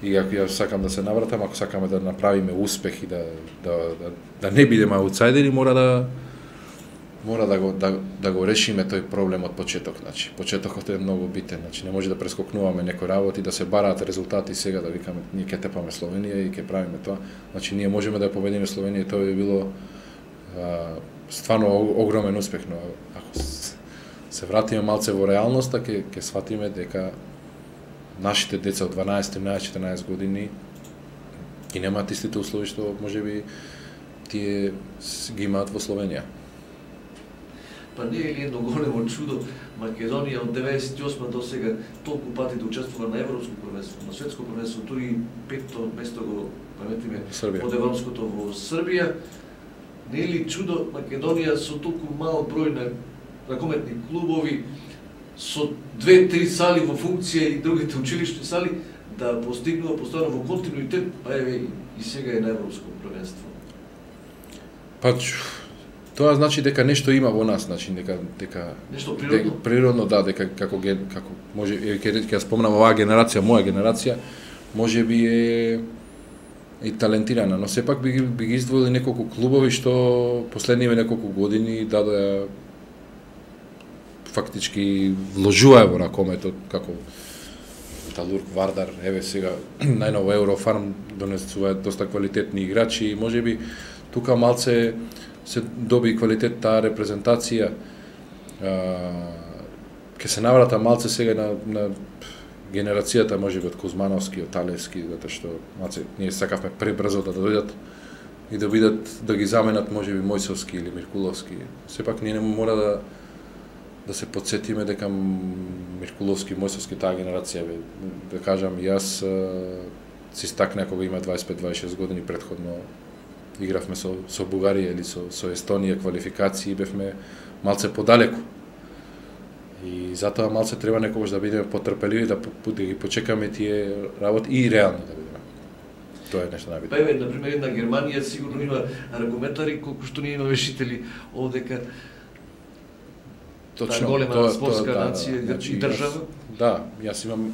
И ако ја сакам да се навратам, ако сакаме да направиме успех и да не бидеме аутсайдери, мора да го решиме тој проблем од почеток, значи почетокот е многу битен, значи не може да прескокнуваме некои работи, да се бараат резултати сега да викаме ние ќе тепаме Словенија и ќе правиме тоа. Значи ние можеме да ја победиме Словенија и тоа би било стварно огромен успех, но ако се вратиме малце во реалноста, ќе сватиме дека нашите деца од 12, 13, 14 години и немаат истите услови што можеби тие ги имаат во Словенија. Па не е ли едно големо чудо Македонија од 98 до сега толку пати да учествува на европско првенство, на светско првенство, дури петто место го паметиме од европското во Србија. Не е ли чудо Македонија со толку мал број на ракометни клубови, со 2-3 сали во функција и другите училишни сали, да постигнува постојано во континуитет, па еве и сега е на европско првенство? Па тоа значи дека нешто има во нас, значи дека нешто природно. Природно да, дека како може ќе спомнам оваа генерација, моја генерација, можеби е и талентирана, но сепак би ги издвоили неколку клубови што последниве неколку години дадоа фактички вложуваe во ракометот, како Талург, Вардар, еве сега најново Еврофарм донесува доста квалитетни играчи и можеби тука малце се доби квалитет таа репрезентација. Ке се наврата малце сега на генерацијата можеби од Кузмановски, од Талевски, затоа што малце ние сакавме пребрзо да дојдат и да бидат да ги заменат можеби Мојсовски или Миркуловски. Сепак ние не мора да се подсетиме дека Миркуловски, Мојсовски таа генерација да кажам јас си стакна кога има 25-26 години претходно игравме со Бугарија или со Естонија квалификации и бевме малце подалеку. И затоа малце треба некогаш да бидеме потрпеливи, да ги почекаме тие работи и реални да бидеме. Тоа е нешто најбитно. Па еве, например, една Германија сигурно има ракометари колку што ние имаме вешители овдека. Точно, голема спортска нација и држава. Да, јас имам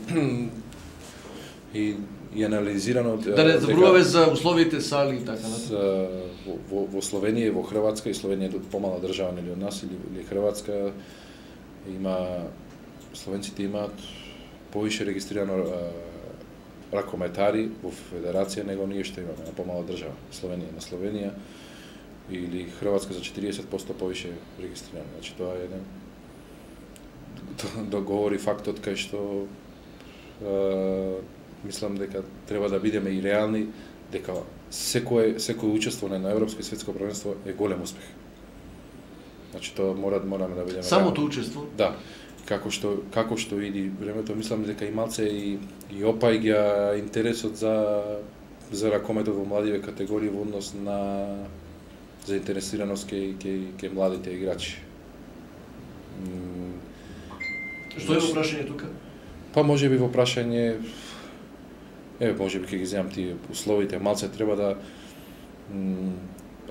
и анализирано да не зборуваме за условите сали и така натаму. Во Словенија и во Хрватска, и Словенија е помала држава нели од нас или Хрватска, словенците имаат повише регистрирано ракометари во федерација него ние што имаме на помала држава. На Словенија или Хрватска за 40% повише регистрирано. Значи тоа е еден договори фактот кај што мислам дека треба да бидеме и реални, дека секој учествување на европско и светско првенство е голем успех. Значи тоа мораме да бидеме самото учество? Да. Како што иди времето, мислам дека и малце и опаѓа интересот за ракометот во младиве категории во однос на заинтересираност кај младите играчи. Што е во прашање тука? Па можеби во прашање можеби ќе ги земам тие условите, малце треба да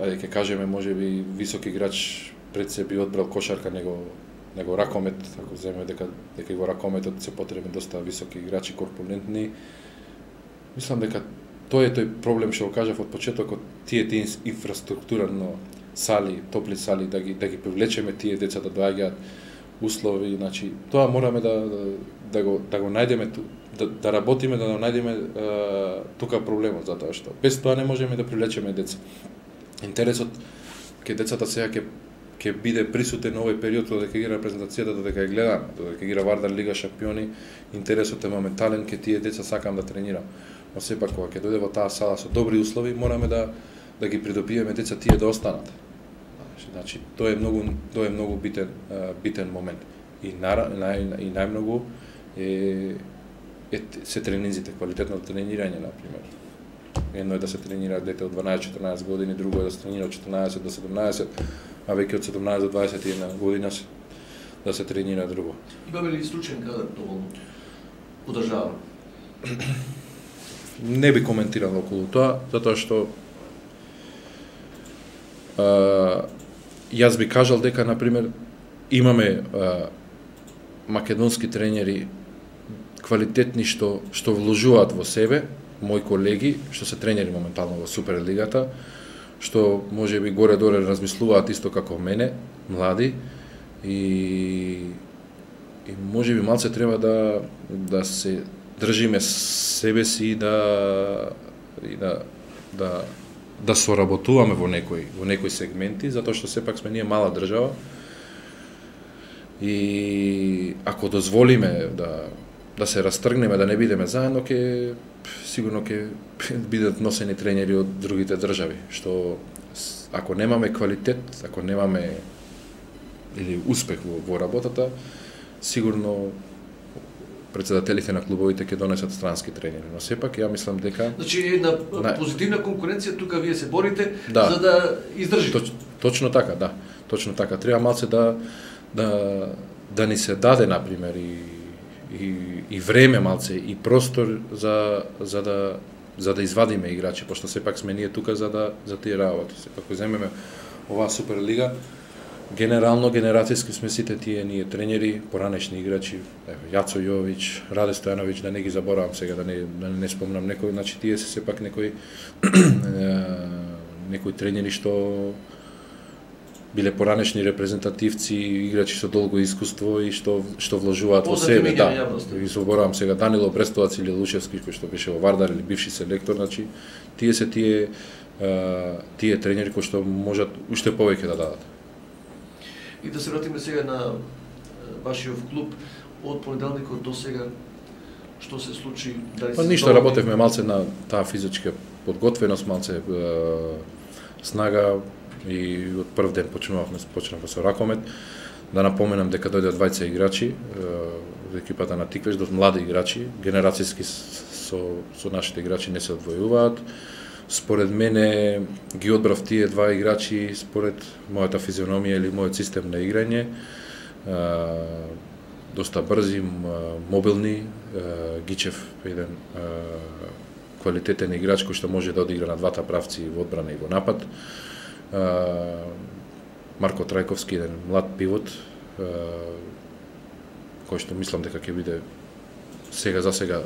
ќе кажеме можеби висок играч пред се би одбрал кошарка него ракомет, ако земеме дека го ракометот се потребни доста високи играчи, корпулентни. Мислам дека тоа е тој проблем што го кажав од почетокот, тие инфраструктурно сали, топли сали, да ги привлечеме тие деца да доаѓаат услови, значи тоа мораме да го најдеме, да работиме да најдеме тука проблемот, затоа што без тоа не можеме да привлечеме деца. Интересот ке децата сега ќе биде присутен овој период додека игра репрезентацијата, додека ја гледаме, додека игра Вардар Лига шампиони, интересот е моментален, ке тие деца сакам да тренирам. Но сепак кога ќе дојде во таа сала со добри услови, мораме да ги придобиеме деца тие да останат. Значи тоа е многу битен момент. И најмногу се тренинзите, квалитетно тренирање на пример. Едно е да се тренира дете од 12-14 години, друго е да се тренира од 14 до 17, а веќе од 17 до 21 година да се тренира друго. Имаме ли случаен кадар доволно? одржавано? Не би коментирал околу тоа, затоа што јас би кажал дека, например, имаме македонски тренери квалитетни што вложуваат во себе, мои колеги, што се тренери моментално во Суперлигата, што може би горе-доле размислуваат исто како мене, млади, и може би малце треба да се држиме себе си и да соработуваме во некои сегменти, затоа што сепак сме ние мала држава. И ако дозволиме да се растргнеме, да не бидеме заедно, сигурно ќе бидат носени тренери од другите држави, што ако немаме квалитет, ако немаме или успех во работата, сигурно председателите на клубовите ќе донесат странски тренери, но сепак ја мислам дека една позитивна конкуренција тука вие се борите за да издржите. Точно така, да. Точно така. Треба малце да ни се даде, например, и време малце, и простор за да извадиме играчи, пошто сепак сме ние тука за тие работи. Сепак ако земеме оваа Суперлига, генерално, генерацијски сме сите тие ние тренери, поранешни играчи, Јацо Јович, Раде Стојановиќ, да не ги заборавам сега, да не спомнам некој, значи тие се сепак некои тренери што биле поранешни репрезентативци, играчи со долго искуство и што вложуваат во себе, да. И заборавам сега Данило Брестовац или Лушевски, кој што беше во Вардар или бивши селектор, значи тие се тие тренери кои што можат уште повеќе да дадат. И да се вратиме сега на вашиот клуб, од понеделникот до сега, што се случи? Ништо, работевме малце на таа физичка подготвеност, малце снага, и од прв ден почнавме со ракомет. Да напоменам дека дојдоа двајца играчи од екипата на Тиквеш, млади играчи, генерацијски со нашите играчи не се одвојуваат. Според мене ги одбрав тие два играчи според мојата физиономија или мојот систем на играње. Доста брзи, мобилни, Гичев еден квалитетен играч кој што може да одигра на двата правци во одбрана и во напад. Марко Трајковски, еден млад пивот, кој што мислам дека ќе биде за сега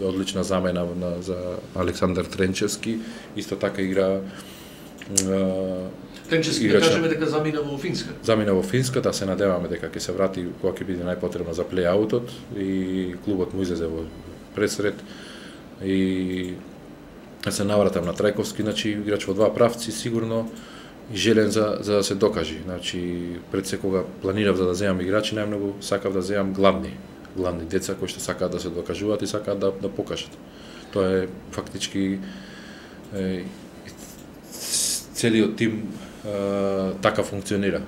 одлична замена за Александар Тренчевски, исто така игра Тренчевски, да кажеме дека замина во Финска. Замина во Финска, да се надеваме дека ќе се врати кога ќе биде најпотребно за плей-аутот и клубот му излезе во пресред и се навратам на Трајковски, значи играч во два правци сигурно и желен за да се докажи. Значи пред секога планирав за да земам играчи, најмногу сакав да земам главни деца кои што сакаат да се докажуваат и сакаат да покажат. Тоа е фактички целиот тим така функционира.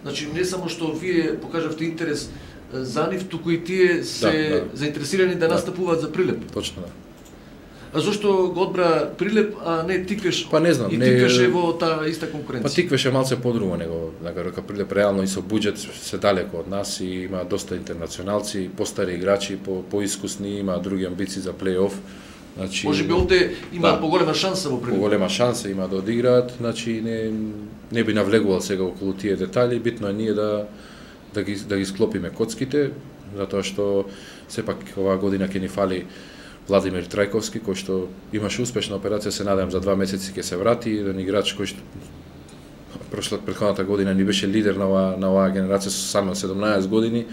Значи не само што вие покажавте интерес за нив, туку и тие се заинтересирани да настапуваат за Прилеп. Точно, да. А зошто го одбра Прилеп, а не Тиквеш? Па не знам, и Тиквеш е во таа иста конкуренција. Па Тиквеш е малце подруго него, дека Прилеп реално и со буџет се далеко од нас и има доста интернационалци, постари играчи, поискусни, има други амбиции за плей-оф. Значи може би овде има поголема шанса во Прилеп. Поголема шанса има да одиграат, значи не би навлегувал сега околу тие детали, битно е ние да ги склопиме коцките, затоа што сепак оваа година ќе ни фали Владимир Трајковски, кој што имаше успешна операција, се надевам за 2 месеци ќе се врати, еден играч кој што претходната година ни беше лидер на оваа генерација со само 17 години.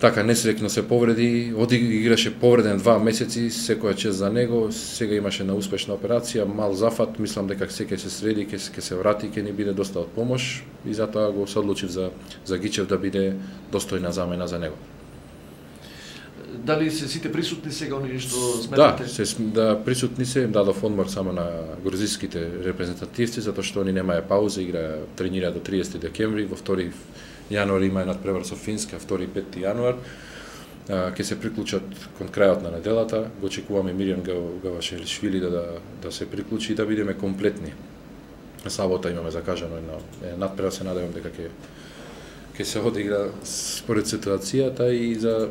Така несреќно се повреди, играше повреден 2 месеци, секоја чест за него, сега имаше на успешна операција, мал зафат, мислам дека ќе се среди, ќе се врати, ќе ни биде доста од помош и затоа го се одлучив за Гичев да биде достојна замена за него. Дали се сите присутни сега оние што сметате? Да, присутни се, им дадов одмор само на грузиските репрезентативци, затоа што они немаја пауза, тренираат до 30 декември, во 2 јануари има надпревар со Финска, 2 и 5 јануар. Ќе се приклучат кон крајот на неделата, го очекуваме Миријан Гавашелишвили да се приклучи и да бидеме комплетни. Сабота имаме закажано една надпревар, се надевам дека ќе се одигра според ситуацијата и за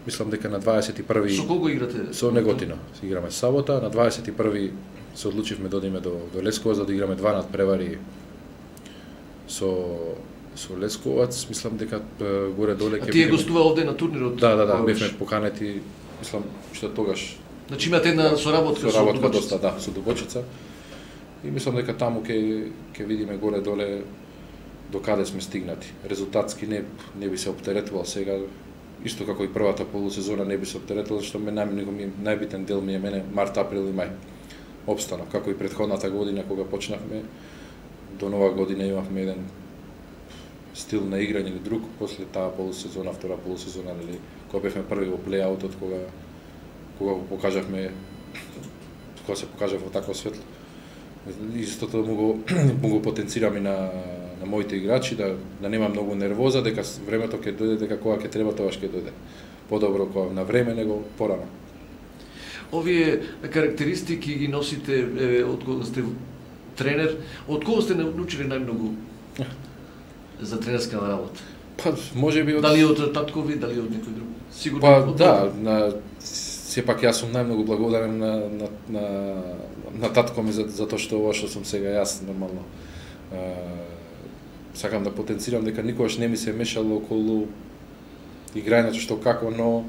мислам дека на 21. Со кого играте? Со Неготино. Играме сабота, на 21. се одлучивме да одиме до Лесковац, да играме 2 надпревари со Лесковац, мислам дека горе доле ќе. А тие гостува овде на турнирот? Да, бевме поканети, мислам што тогаш. Значи имате една соработка со Дубочица. Доста, да, со Дубочица. И мислам дека таму ќе видиме горе доле до каде сме стигнати. Резултатски не би се оптеретувал сега, исто како и првата полусезона не би се оптеретувал, што најбитен дел ми е мене март, април и мај. Обстанав, како и претходната година кога почнавме, до нова година имавме еден стил на играње или друг, после таа полусезона, втора полусезона, или кога бевме први во плејаутот, кога го покажавме, кога се покажав во такво светло. Истото му го потенцирам и на моите играчи, да нема многу нервоза, дека времето ќе дојде, дека кога ќе треба, тогаш ќе дојде. Подобро кога на време, него порано. Овие карактеристики ги носите од кога сте тренер, од кого сте научили најмногу за тренерска работа? Па, можеби од... Дали од таткови, дали од некој друг? Сигурно. Па, сепак јас сум најмногу благодарен на татко ми за тоа што ова што сум сега јас нормално. Сакам да потенцирам дека никогаш не ми се мешало околу играњето што како, но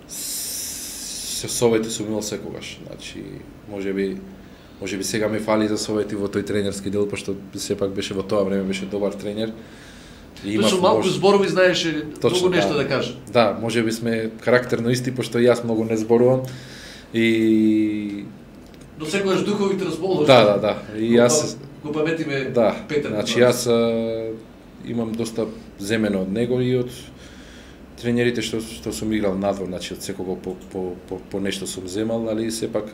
се совети сум имал секогаш. Значи, можеби сега ми фали за совети во тој тренерски дел, пошто сепак беше во тоа време беше добар тренер. И со малку зборови знаеше многу нешто да каже. Да, можеби сме карактерно исти, пошто јас многу не зборувам. И но секогаш духовите расположени. Да. И јас го паметиме Петар. Значи јас имам доста земено од него и од тренерите што сум играл надвор, значи од секого по нешто сум земал, али сепак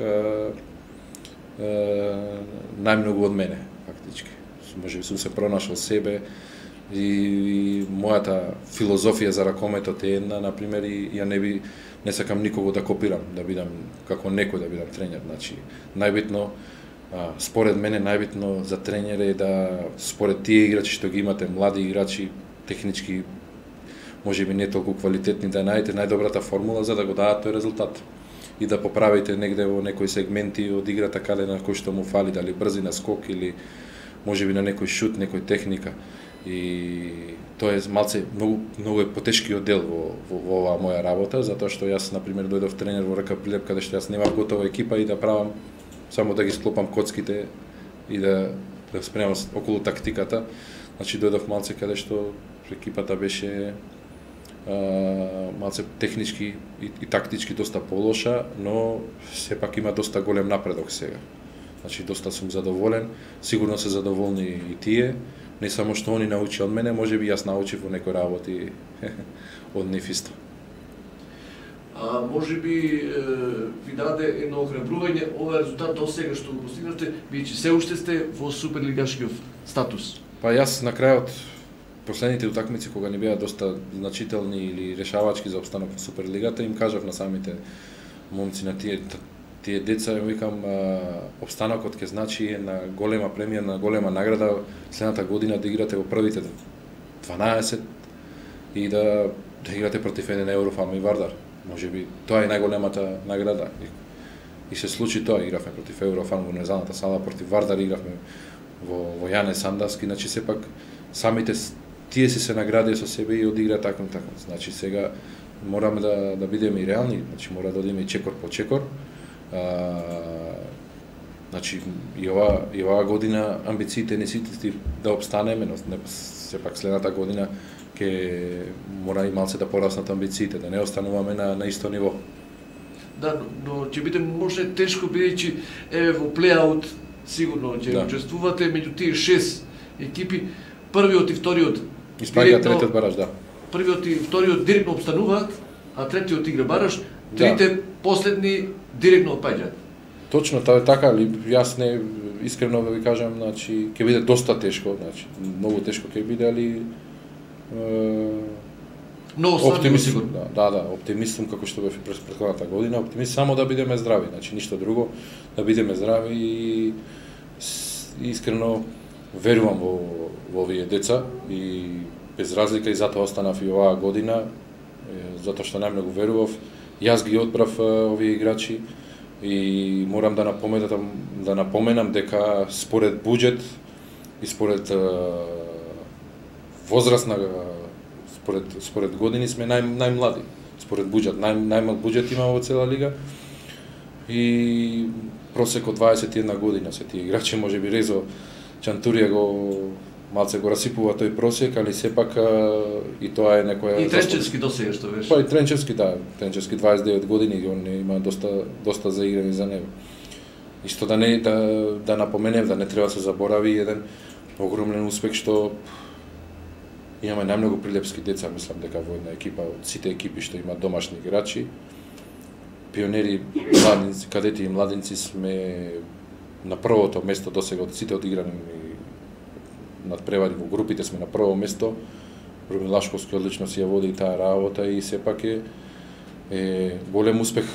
најмногу од мене фактички. Можеби сум се пронашал себе и мојата филозофија за ракометот е една, например, и ја не сакам никого да копирам, да бидам како некој, да бидам тренер. Значи, најбитно, според мене, најбитно за тренер е да, според тие играчи што ги имате, млади играчи, технички, можеби не толку квалитетни, да најдете најдобрата формула за да го дадат тој резултат. И да поправите негде во некои сегменти од играта каде на кој што му фали, дали брзина, скок или можеби на некој шут, некој техника. И тоа е малце многу е потешкиот дел во оваа моја работа, затоа што јас на пример дојдов тренер во РК Прилеп каде што јас немав готова екипа и да правам само да ги склопам коцките и да спремам околу тактиката. Значи дојдов малце каде што екипата беше малце технички и тактички доста полоша, но сепак има доста голем напредок сега. Значи доста сум задоволен, сигурно се задоволни и тие. Не само што они научи од мене, можеби јас научив во некои работи од нив исто. Можеби ви даде едно охрабрување ова резултат до сега што го постигнавте, бидејќи се уште сте во суперлигашкиот статус. Па јас на крајот последните утакмици кога не беа доста значителни или решавачки за опстанок во Суперлигата, им кажав на самите момци, на тие деца, им викам, опстанокот ќе значи една голема премија, на голема награда следната година да играте во првите 12 и да играте против еден Еврофан и Вардар. Можеби тоа е најголемата награда. И се случи тоа, игравме против Еврофан во незаната сала, против Вардар игравме во Јане Сандаски, значи сепак самите тие се наградија со себе и одигра таков. Значи сега мораме да бидеме и реални, значи мора да одиме и чекор по чекор. Значи и оваа година амбициите не сите да обстанеме, но сепак следната година ќе мора и малце да пораснат амбициите, да не остануваме на исто ниво. Да, но ќе биде може тешко бидејќи во плејаут сигурно ќе учествувате меѓу тие 6 екипи, првиот и вториот испаѓа третиот бараж, да. Првиот и вториот директно обстануваат, а третиот игра бараж, трите последни директно отпаѓаат. Точно, тоа е така, али јас не искрено да ви кажам, значи ќе биде доста тешко, значи многу тешко ќе биде, али оптимист, да, оптимист сум како што бев през претходната година, оптимист само да бидеме здрави, значи ништо друго, да бидеме здрави и искрено верувам во овие деца и без разлика и затоа останав и оваа година, затоа што најмногу верував. Јас ги одбрав овие играчи и морам да напоменам дека според буџет и според возраст на според години сме најмлади. Според буџет, најмал буџет има во цела лига и просек од 21 година се тие играчи, можеби Резо Чантурија малце го расипува тој просек, али сепак и тоа е некоја... И Тренчевски досега што беше. Па и Тренчевски, да. Тренчевски 29 години, он има доста заиграни за него. Исто да напоменем, да не треба да се заборави еден огромен успех што имаме најмногу прилепски деца, мислам дека во една екипа, од сите екипи што имаат домашни играчи. Пионери, младинци, кадети и младинци сме на првото место досега од сите одиграни надпревари во групите, сме на прво место. Румин Лашковски одлично си ја води таа работа и сепак е голем успех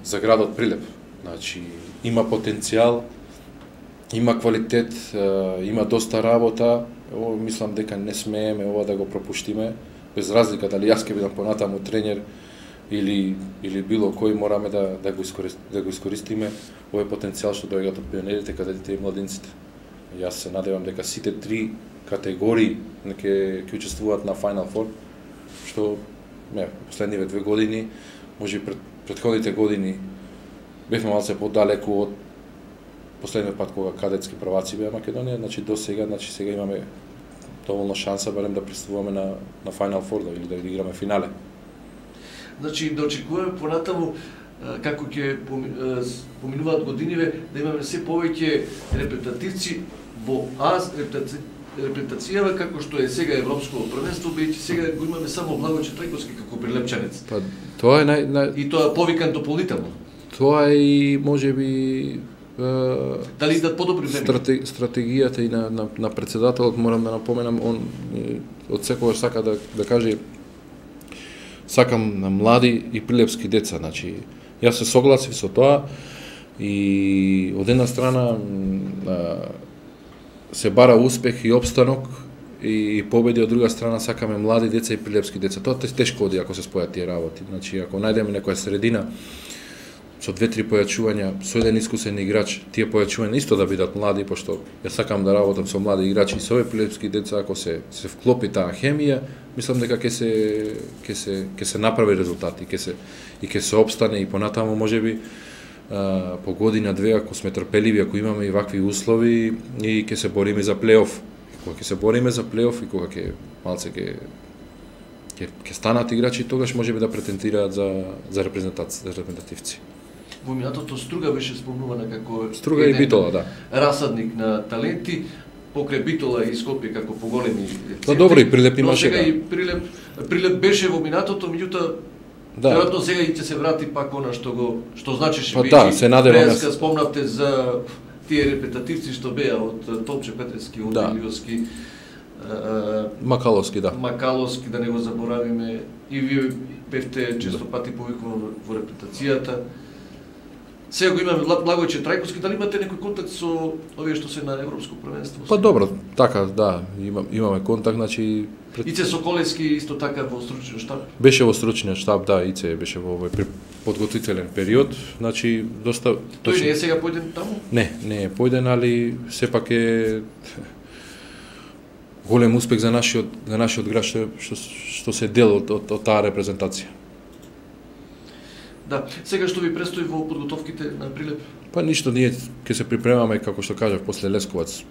за градот Прилеп. Значи, има потенцијал, има квалитет, има доста работа. Мислам дека не смееме ова да го пропуштиме, без разлика дали јас ќе бидам понатаму тренер или било кој, мораме да го искористиме овој потенцијал што доаѓаат од пионерите, кадетите и младинците. Јас се надевам дека сите три категории ќе учествуваат на Final Four, што последниве 2 години, може и претходните години бевме малце подалеку од последниот пат кога кадетски прваци беа Македонија, значи до сега, сега имаме доволно шанса барем да пристигуваме на Final Four или да играме финале. Значи да очекуваме понатаму како ќе поминуваат годиниве, да имаме се повеќе репретативци во репретацијава како што е сега Европско првенство, бидејќи сега го имаме само Благојче Трајковски како прилепчанец. Па тоа е и тоа повикан дополнително. Тоа е и можеби дали идат подобри време? Стратегијата и на претседателот, морам да напоменам, он од секогаш сака да каже сакам на млади и прилепски деца, значи јас се согласив со тоа и од една страна се бара успех и опстанок и победи, од друга страна сакаме млади деца и прилепски деца. Тоа тешко оди ако се спојат тие работи. Значи ако најдеме некоја средина со 2-3 појачувања, со еден искусен играч, тие појачувања исто да бидат млади, пошто ја сакам да работам со млади играчи и со овие прилепски деца, ако се вклопи таа хемија, мислам дека ќе се направи резултати, ќе се опстане и понатаму можеби по година две, ако сме трпеливи, ако имаме и вакви услови и ќе се бориме за плейоф. Кога ќе се бориме за плейоф и кога ќе малце ќе станат играчи, тогаш можеби да претендираат за репрезентативци. Во минатото Струга беше спомнувана како Струга и Битола, да. Расадник на таленти, покрај Битола и Скопје како поголеми центри. Па добро, и Прилеп имаше, но сега и Прилеп беше во минатото, меѓутоа веројатно сега и ќе се врати пак она што значеше. Па да, се надевам. Спомнавте за тие репетативци што беа од Томче Петрески, од Илиовски, Макаловски, да. Макаловски, да не го заборавиме, и вие бевте често пати повикувани во репетацијата. Сега го имаме Благојче Трајковски, дали имате некој контакт со овие што се на Европско првенство? Па добро, така, да, имаме контакт, значи... Ице Соколевски исто така во стручниот штаб? Беше во стручниот штаб, да, Ице беше во овој подготвителен период, значи доста... Тој не е сега појден таму? Не е појден, али сепак е голем успех за нашиот град што се дел од таа репрезентација. Да, сега што ви престои во подготовките на Прилеп? Па ништо, ние ќе се припремаме, како што кажав, после Лесковац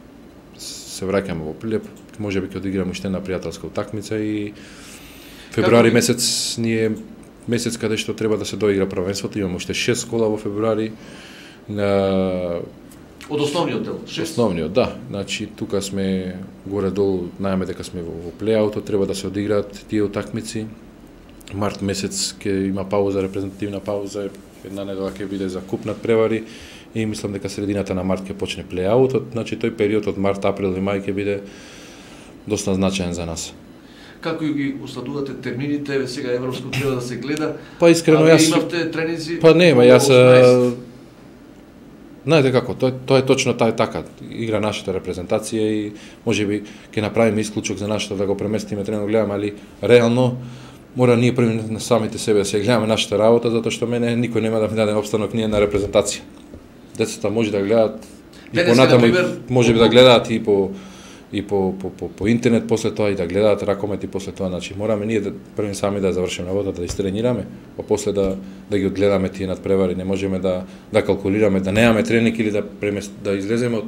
се враќаме во Прилеп, можеби ќе одиграме уште една пријателска утакмица и февруари месец ние месец каде што треба да се доигра првенството, имаме уште 6 кола во февруари. Од основниот дел, 6? Основниот, да. Значи, тука сме горе-долу, знаеме дека сме во плејаутот, треба да се одиграат тие утакмици. Март месец ќе има пауза, репрезентативна пауза, една недела ќе биде за куп надпревари и мислам дека средината на март ќе почне плејаутот, значи тој период од март, април и мај ќе биде доста значаен за нас. Како ги усладувате термините, сега европско треба да се гледа? Па искрено јас имавте тренинзи? Па нема, јас знаете како, тоа е точно таа така. Игра нашата репрезентација и можеби ќе направиме исклучок за нашата да го преместиме тренер, гледам, али реално мора ние први на самите себе да се гледаме нашата работа, затоа што мене никој нема да ми даде опстанок ние на репрезентација. Децата може да гледаат и понатаму може би да гледаат и по интернет после тоа и да гледаат ракомет и после тоа, значи мораме ние да први сами да завршиме работата, да истренираме, па после да ги одгледаме тие надпревари, не можеме да калкулираме, да немаме тренинг или да излеземе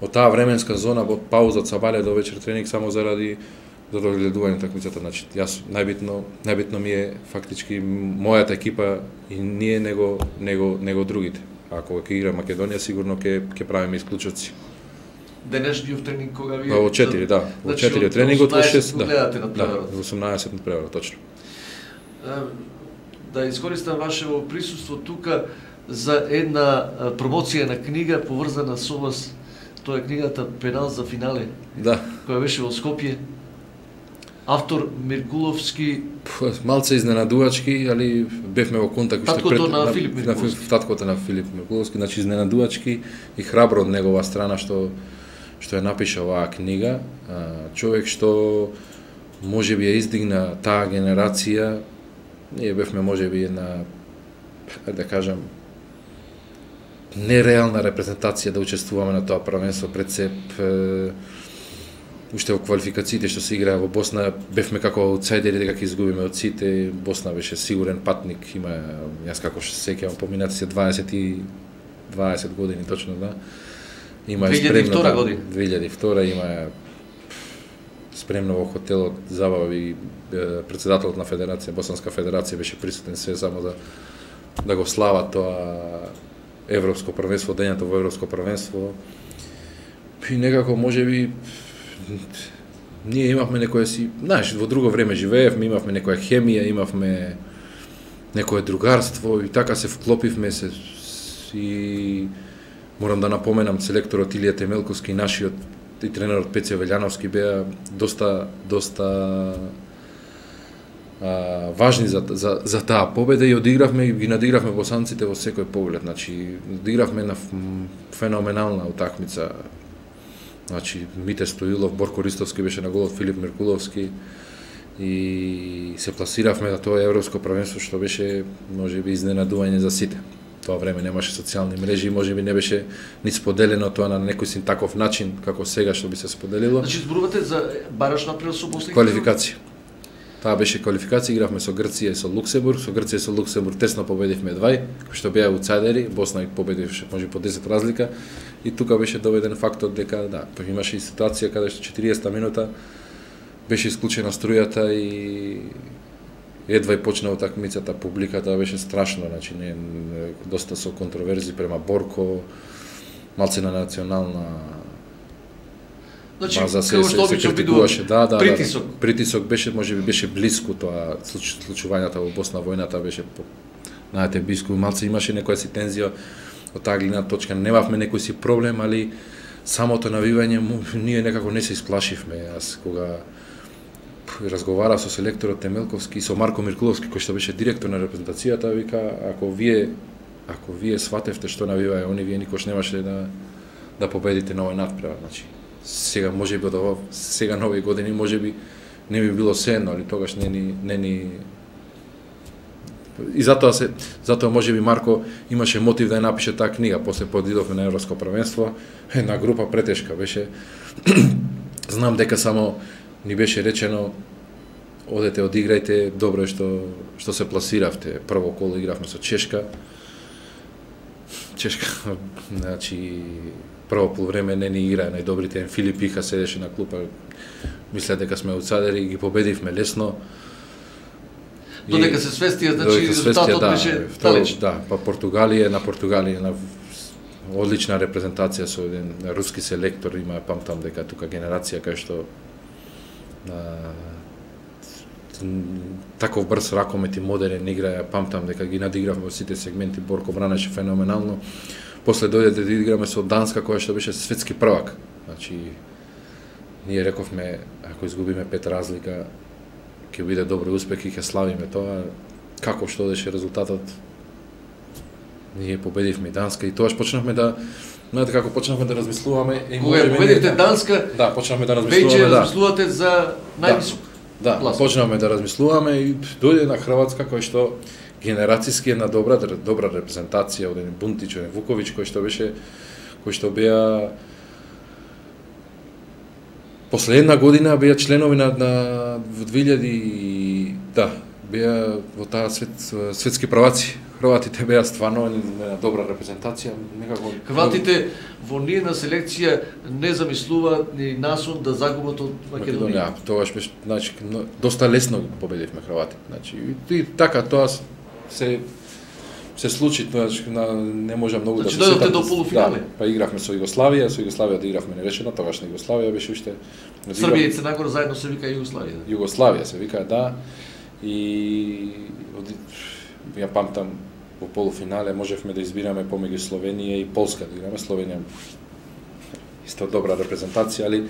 од таа временска зона, од пауза од сабале до вечер тренинг само заради одгледување такмицата. Значи јас најбитно ми е фактички мојата екипа и ние него другите. Ако ќе игра Македонија, сигурно ќе правиме исклучоци. Денешниот тренинг кога вие во 4, да. Во 4 тренингот, во 6, да. Во 18 надпревар, точно. Да искористам вашево присуство тука за една промоција на книга поврзана со вас. Тоа е книгата Пенал за финале. Да. Која беше во Скопје. Автор Миркуловски. Малце изненадувачки, али бевме во контакт таткото на Филип Миркуловски. Таткото на Филип Миркуловски, значи изненадувачки и храбро од негова страна што ја напиша оваа книга. Човек што можеби ја издигна таа генерација. Ние бевме можеби една, да кажам, нереална репрезентација да учествуваме на тоа првенство. Пред се уште во квалификациите што се играа во Босна, бевме како аутсайдери дека ќе изгубиме од сите. Босна беше сигурен патник, има, јас како што се сеќавам, поминати се 20 години точно, да. Има 2002 година. 2002 има спремно во хотелот забави, претседателот на федерација, Босанска федерација беше присутен се само да го слава тоа европско првенство, дењето во европско првенство. И некако можеби ние имавме некоја си, знаеш, во друго време живеевме, имавме некоја хемија, имавме некое другарство и така се вклопивме се и морам да напоменам селекторот Илија Темелковски и нашиот и тренерот Пеце Велјановски беа доста важни за таа победа и одигравме и ги надигравме босанците во секој поглед. Значи, одигравме на феноменална утакмица. Значи, Мите Стоилов, Борко Ристовски беше на голот, Филип Миркуловски и се пласиравме на тоа европско првенство што беше можеби изненадување за сите. Тоа време немаше социјални мрежи, можеби не беше ни споделено тоа на некој син таков начин како сега што би се споделило. Значи зборувате за бараш напред со Босна? Квалификација. Таа беше квалификација, игравме со Грција и со Луксембург. Со Грција и со Луксембург тесно победивме 2, кои што беа аутсайдери, Босна ги победивше може по 10 разлика. И тука беше доведен фактот дека да, имаше и ситуација каде што 40 минута беше исклучена струјата и едва и почна утакмицата, публиката беше страшно, значи не доста со контроверзи према Борко, малце на национална база се критикуваше. Да. Притисок беше, можеби беше блиску тоа случувањата во Босна, војната беше знаете блиску, малце имаше некоја си тензија од таа гледна точка, немавме некој си проблем, али самото навивање ние некако не се исплашивме. Јас кога разговара со селекторот Темелковски и со Марко Миркуловски, кој што беше директор на репрезентацијата, вика, ако вие сватевте што навиваја они, вие никош немаше да победите на овој надпревар. Значи, сега можеби од сега нови години можеби не би било сеено, али тогаш не ни и затоа можеби Марко имаше мотив да ја напише таа книга. После подидовме на европско првенство, една група претешка беше. Знам дека само ни беше речено одете, одиграјте, добро е што се пласиравте. Прво коло игравме со Чешка, значи прво полувреме не ни играа најдобрите, Филип Иха седеше на клупа, мисля дека сме аутсайдери, ги победивме лесно. Додека се свестија, значи резултатот беше далеч. Да, па Португалија на одлична репрезентација со еден руски селектор, има памтам дека тука генерација кај што таков брз ракомет и модерен игра, памтам дека ги надигравме во сите сегменти, Борко бранеше феноменално. После дојде да играме со Данска, која што беше светски првак. Значи, ние рековме, ако изгубиме 5 разлика, ќе биде добро успех и ќе славиме тоа. Како што одеше резултатот, ние победивме Данска и тоаш почнавме да, знаете како почнавме да размислуваме. Кога победивте Данска, да, почнавме да размислуваме. Веќе размислувате за највисок. Да, почнавме да размислуваме и дојде на Хрватска кој што генерацијски една добра репрезентација од еден Бунтич, од Вуковиќ кој што беа после една година беа членови на во 2000 беа во таа светски праваци. Хрватите беа стварно една добра репрезентација, некако Хрватите во ниедна селекција не замислуваат ни насон да загубат од Македонија. Тогаш беше, значи, доста лесно победивме Хрватите. Значи, и така тоа се случи, значи, не може многу да се сетам. Значи, дојдовте до полуфинале? Да, па игравме со Југославија да игравме нерешено, тогашна Југославија беше уште... Србија и Црна Гора заедно се вика Југославија. Југославија се вика, да. И ја памтам во полуфинале можевме да избираме помеѓу Словенија и Полска да играме. Словенија исто добра репрезентација, али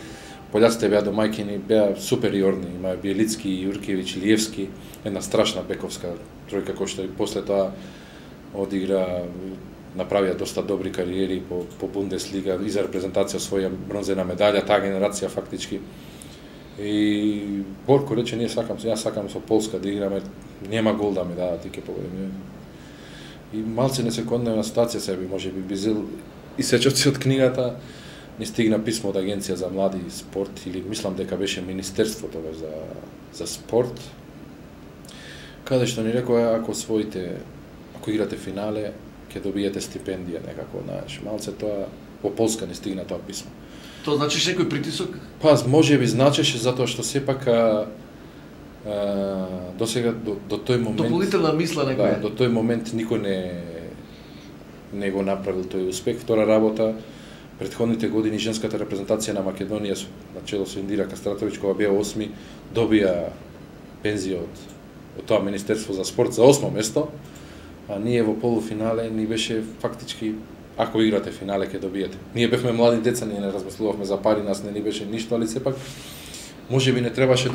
пољаците беа домајкини, беа супериорни, имаа Биелицки, Јуркевиќ, Илиевски, една страшна бековска тројка која што и после тоа одигра, направија доста добри кариери по Бундеслига и за репрезентација своја бронзена медаља, таа генерација фактички. И Борко рече, јас сакам со Полска да играме, нема гол да ми дадат и ќе победиме. И малце несекондна ситуација себе, можеби бизел и сечоци од книгата ми стигна писмо од Агенција за млади и спорт, или мислам дека беше Министерство тогаш за спорт, каде што ни рекоа ако играте финале, ќе добиете стипендија некако, знаеш, малце тоа во Полска не стигна тоа писмо. Тоа значиш некој притисок? Па, можеби значеше затоа што сепак до сега до тој момент дополнителна мисла некоја. Да, до тој момент никој не го направил тој успех. Втора работа, претходните години женската репрезентација на Македонија на чело со Индира Кастратовиќ, кога беа 8, добија пензија од тоа Министерство за спорт за 8 место, а ние во полуфинале ни беше фактички ако играте финале ќе добиете. Ние бевме млади деца, ние не размислувавме за пари, нас не ни беше ништо, али сепак можеби не требаше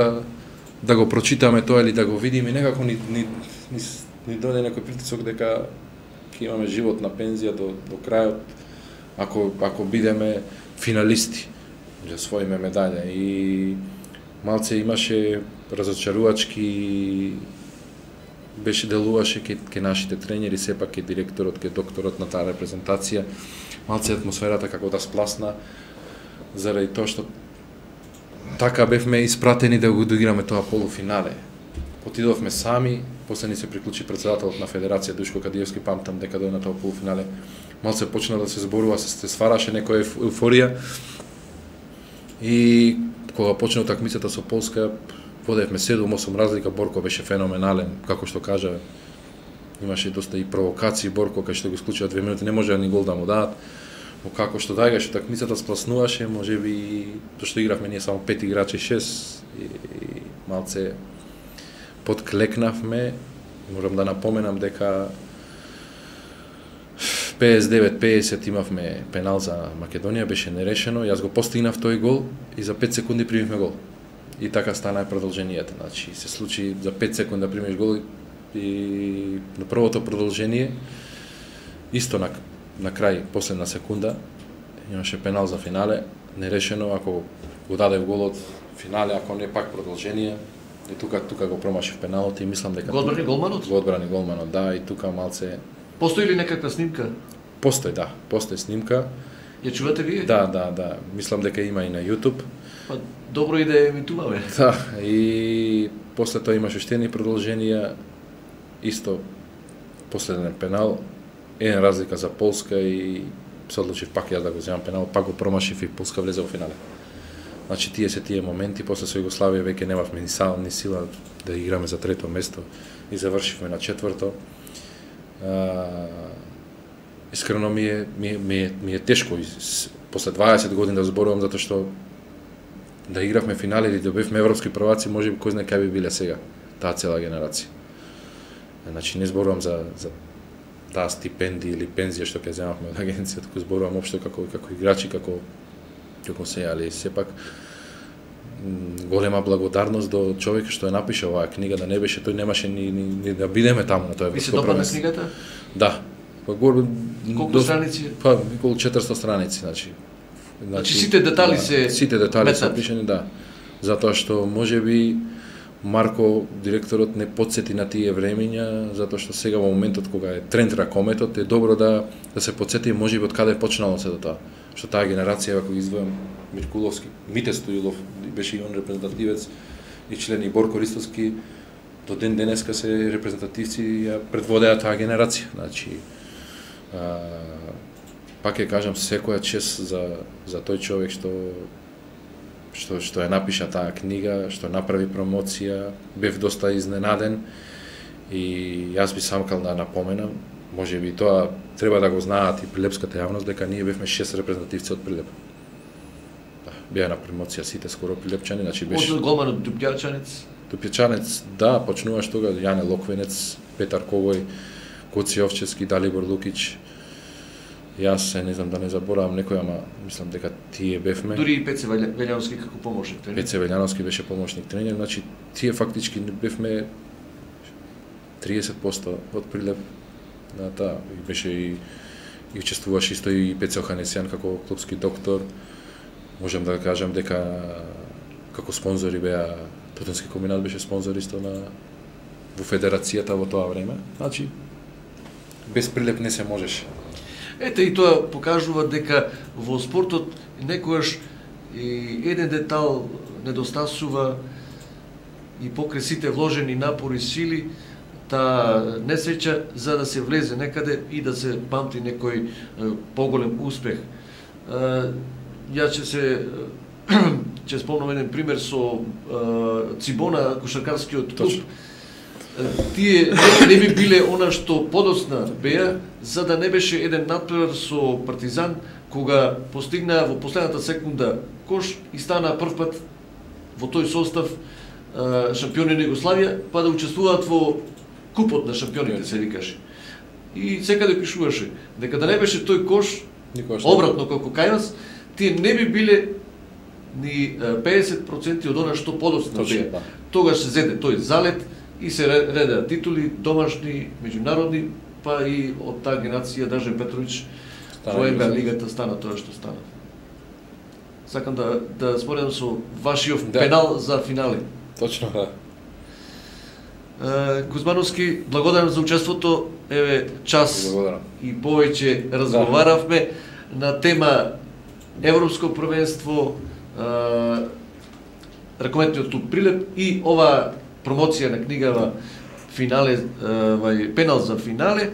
да го прочитаме тоа или да го видиме, некако ни дојде некој притисок дека ќе имаме живот на пензија до крајот ако бидеме финалисти, да освоиме медаља. И малце имаше разочарувачки делуваше ке нашите тренери, сепак ке директорот, ке докторот на таа репрезентација, малце атмосферата како да спласна, заради тоа што така бевме испратени да го доиграме тоа полуфинале. Отидовме сами, после ни се приклучи председателот на Федерација Душко Кадиевски, памтам дека дојде на тоа полуфинале, малце почна да се зборува, се ствараше некоја еуфорија. И кога почна утакмицата со Полска, водевме 7-8 разлика, Борко беше феноменален, како што кажа, имаше доста и провокации, Борко кај што го исклучува 2 минути, не може да ни гол да му дадат, но како што дајгаше утакмицата спласнуваше, можеби тоа што игравме ние само 5 играчи 6 и малце подклекнавме. Морам да напоменам дека 59-50 имавме пенал за Македонија, беше нерешено, јас го постигнав тој гол и за 5 секунди примивме гол. И така стана продолженијата, значи се случи за 5 секунди да примиш гол и на првото продолжение исто на крај, последна секунда, имаше пенал за финале, нерешено, ако го даде голот финале, ако не пак продолжение, и тука го промашив пеналот и мислам дека го одбрани голманот? Го одбрани голманот, да, и тука малце Постои ли некаква снимка? Постои снимка. Ја чувате вие? Да. Мислам дека има и на YouTube. Па добро и да ја емитуваме. Да, и после тоа имаше уште едни продолженија, исто последен пенал, еден разлика за Полска и се одлучив пак јас да го земам пенал, пак го промашив и Полска влезе во финале. Значи тие моменти, после со Југославија веќе немавме ни сила да играме за трето место и завршивме на четврто. Искрено ми е тешко после 20 години да зборувам, затоа што да игравме финале или да бевме европски прваци, може би кој знае кај би биле сега таа цела генерација. Значи не зборувам за таа стипендија или пензија што ќе земавме од агенцијата, туку зборувам општо како играчи, како се, али сепак голема благодарност до човекот што ја напише оваа книга, да не беше тој немаше ни да бидеме таму на тоа европско првенство. Ви се допадна книгата? Да. Колку страници? Па околу 400 страници, значи сите детали се опишани, да. Затоа што можеби Марко, директорот, не подсети на тие времиња, затоа што сега во моментот кога е тренд ракометот, е добро да се подсети можеби од каде е почнало сето тоа. Што таа генерација, ако издвојам Миркуловски, Мите Стоилов беше и он репрезентативец, и член и Борко Ристовски, до ден денеска се репрезентативци ја предводеа таа генерација. Значи, пак ќе кажам, секоја чест за тој човек што ја напиша таа книга, што направи промоција, бев доста изненаден и јас би самкал да напоменам, можеби тоа треба да го знаат и прилепската јавност, дека ние бевме 6 репрезентативци од Прилеп. Да, беа на промоција сите скоро прилепчани, значи беше од голманот Дупјачанец. Дупјачанец, да, почнуваш тога Јане Локвенец, Петар Когој, Коци Овчевски, Далибор Лукич. Јас не знам да не заборавам некој, ама мислам дека тие бевме. Дури и Пеце Вељановски како помошник тренер. Пеце Вељановски беше помошник тренер, значи тие фактички бевме 30% од Прилеп на таа. И беше и учествуваше исто и Пеце Оханесјан како клубски доктор. Можам да кажам дека како спонзори беа Тотенски комбинат беше спонзор исто во федерацијата во тоа време. Значи без Прилеп не се можеше. Ете и тоа покажува дека во спортот некогаш и еден детал недостасува и покрај сите вложени напори сили, таа несреќа за да се влезе некаде и да се памти некој поголем успех. Јас ќе спомнам еден пример со Цибона, кошаркарскиот клуб. Тие не би биле она што подоцна беа, за да не беше еден натпревар со Партизан, кога постигнаа во последната секунда кош и стана прв пат во тој состав шампиони на Југославија, па да учествуваат во купот на шампионите, се викаше. И секаде пишуваше дека да не беше тој кош, обратно како кај нас, тие не би биле ни 50% од она што подоцна беа. Тогаш се зеде тој залет и се редеа титули, домашни, меѓународни, па и од таа генерација Дажен Петрович во НБА лигата стана тоа што стана. Сакам да споредам со вашиот пенал за финале. Точно, да. Кузмановски, благодарам за учеството. Еве час и повеќе разговаравме на тема Европско првенство, ракометниот клуб Прилеп и ова промоција на книгава финале, пенал за финале,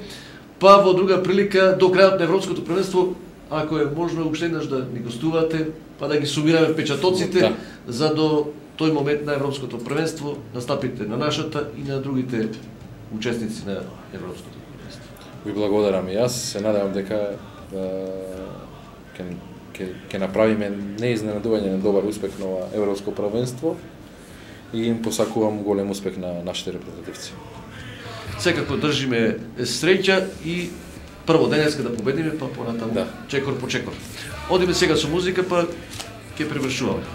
па во друга прилика до крајот на Европското првенство, ако е можно уште еднаш да ни гостувате, па да ги сумираме впечатоците за до тој момент на Европското првенство, настапите на нашата и на другите учесници на Европското првенство. Ви благодарам и јас, се надевам дека ќе направиме неизненадување на добар успех на ова Европско првенство и им посакувам голем успех на нашите репрезентативци. Секако држиме среќа и прво денеска да победиме, па понатаму чекор по чекор. Одиме сега со музика, па ќе превршуваме.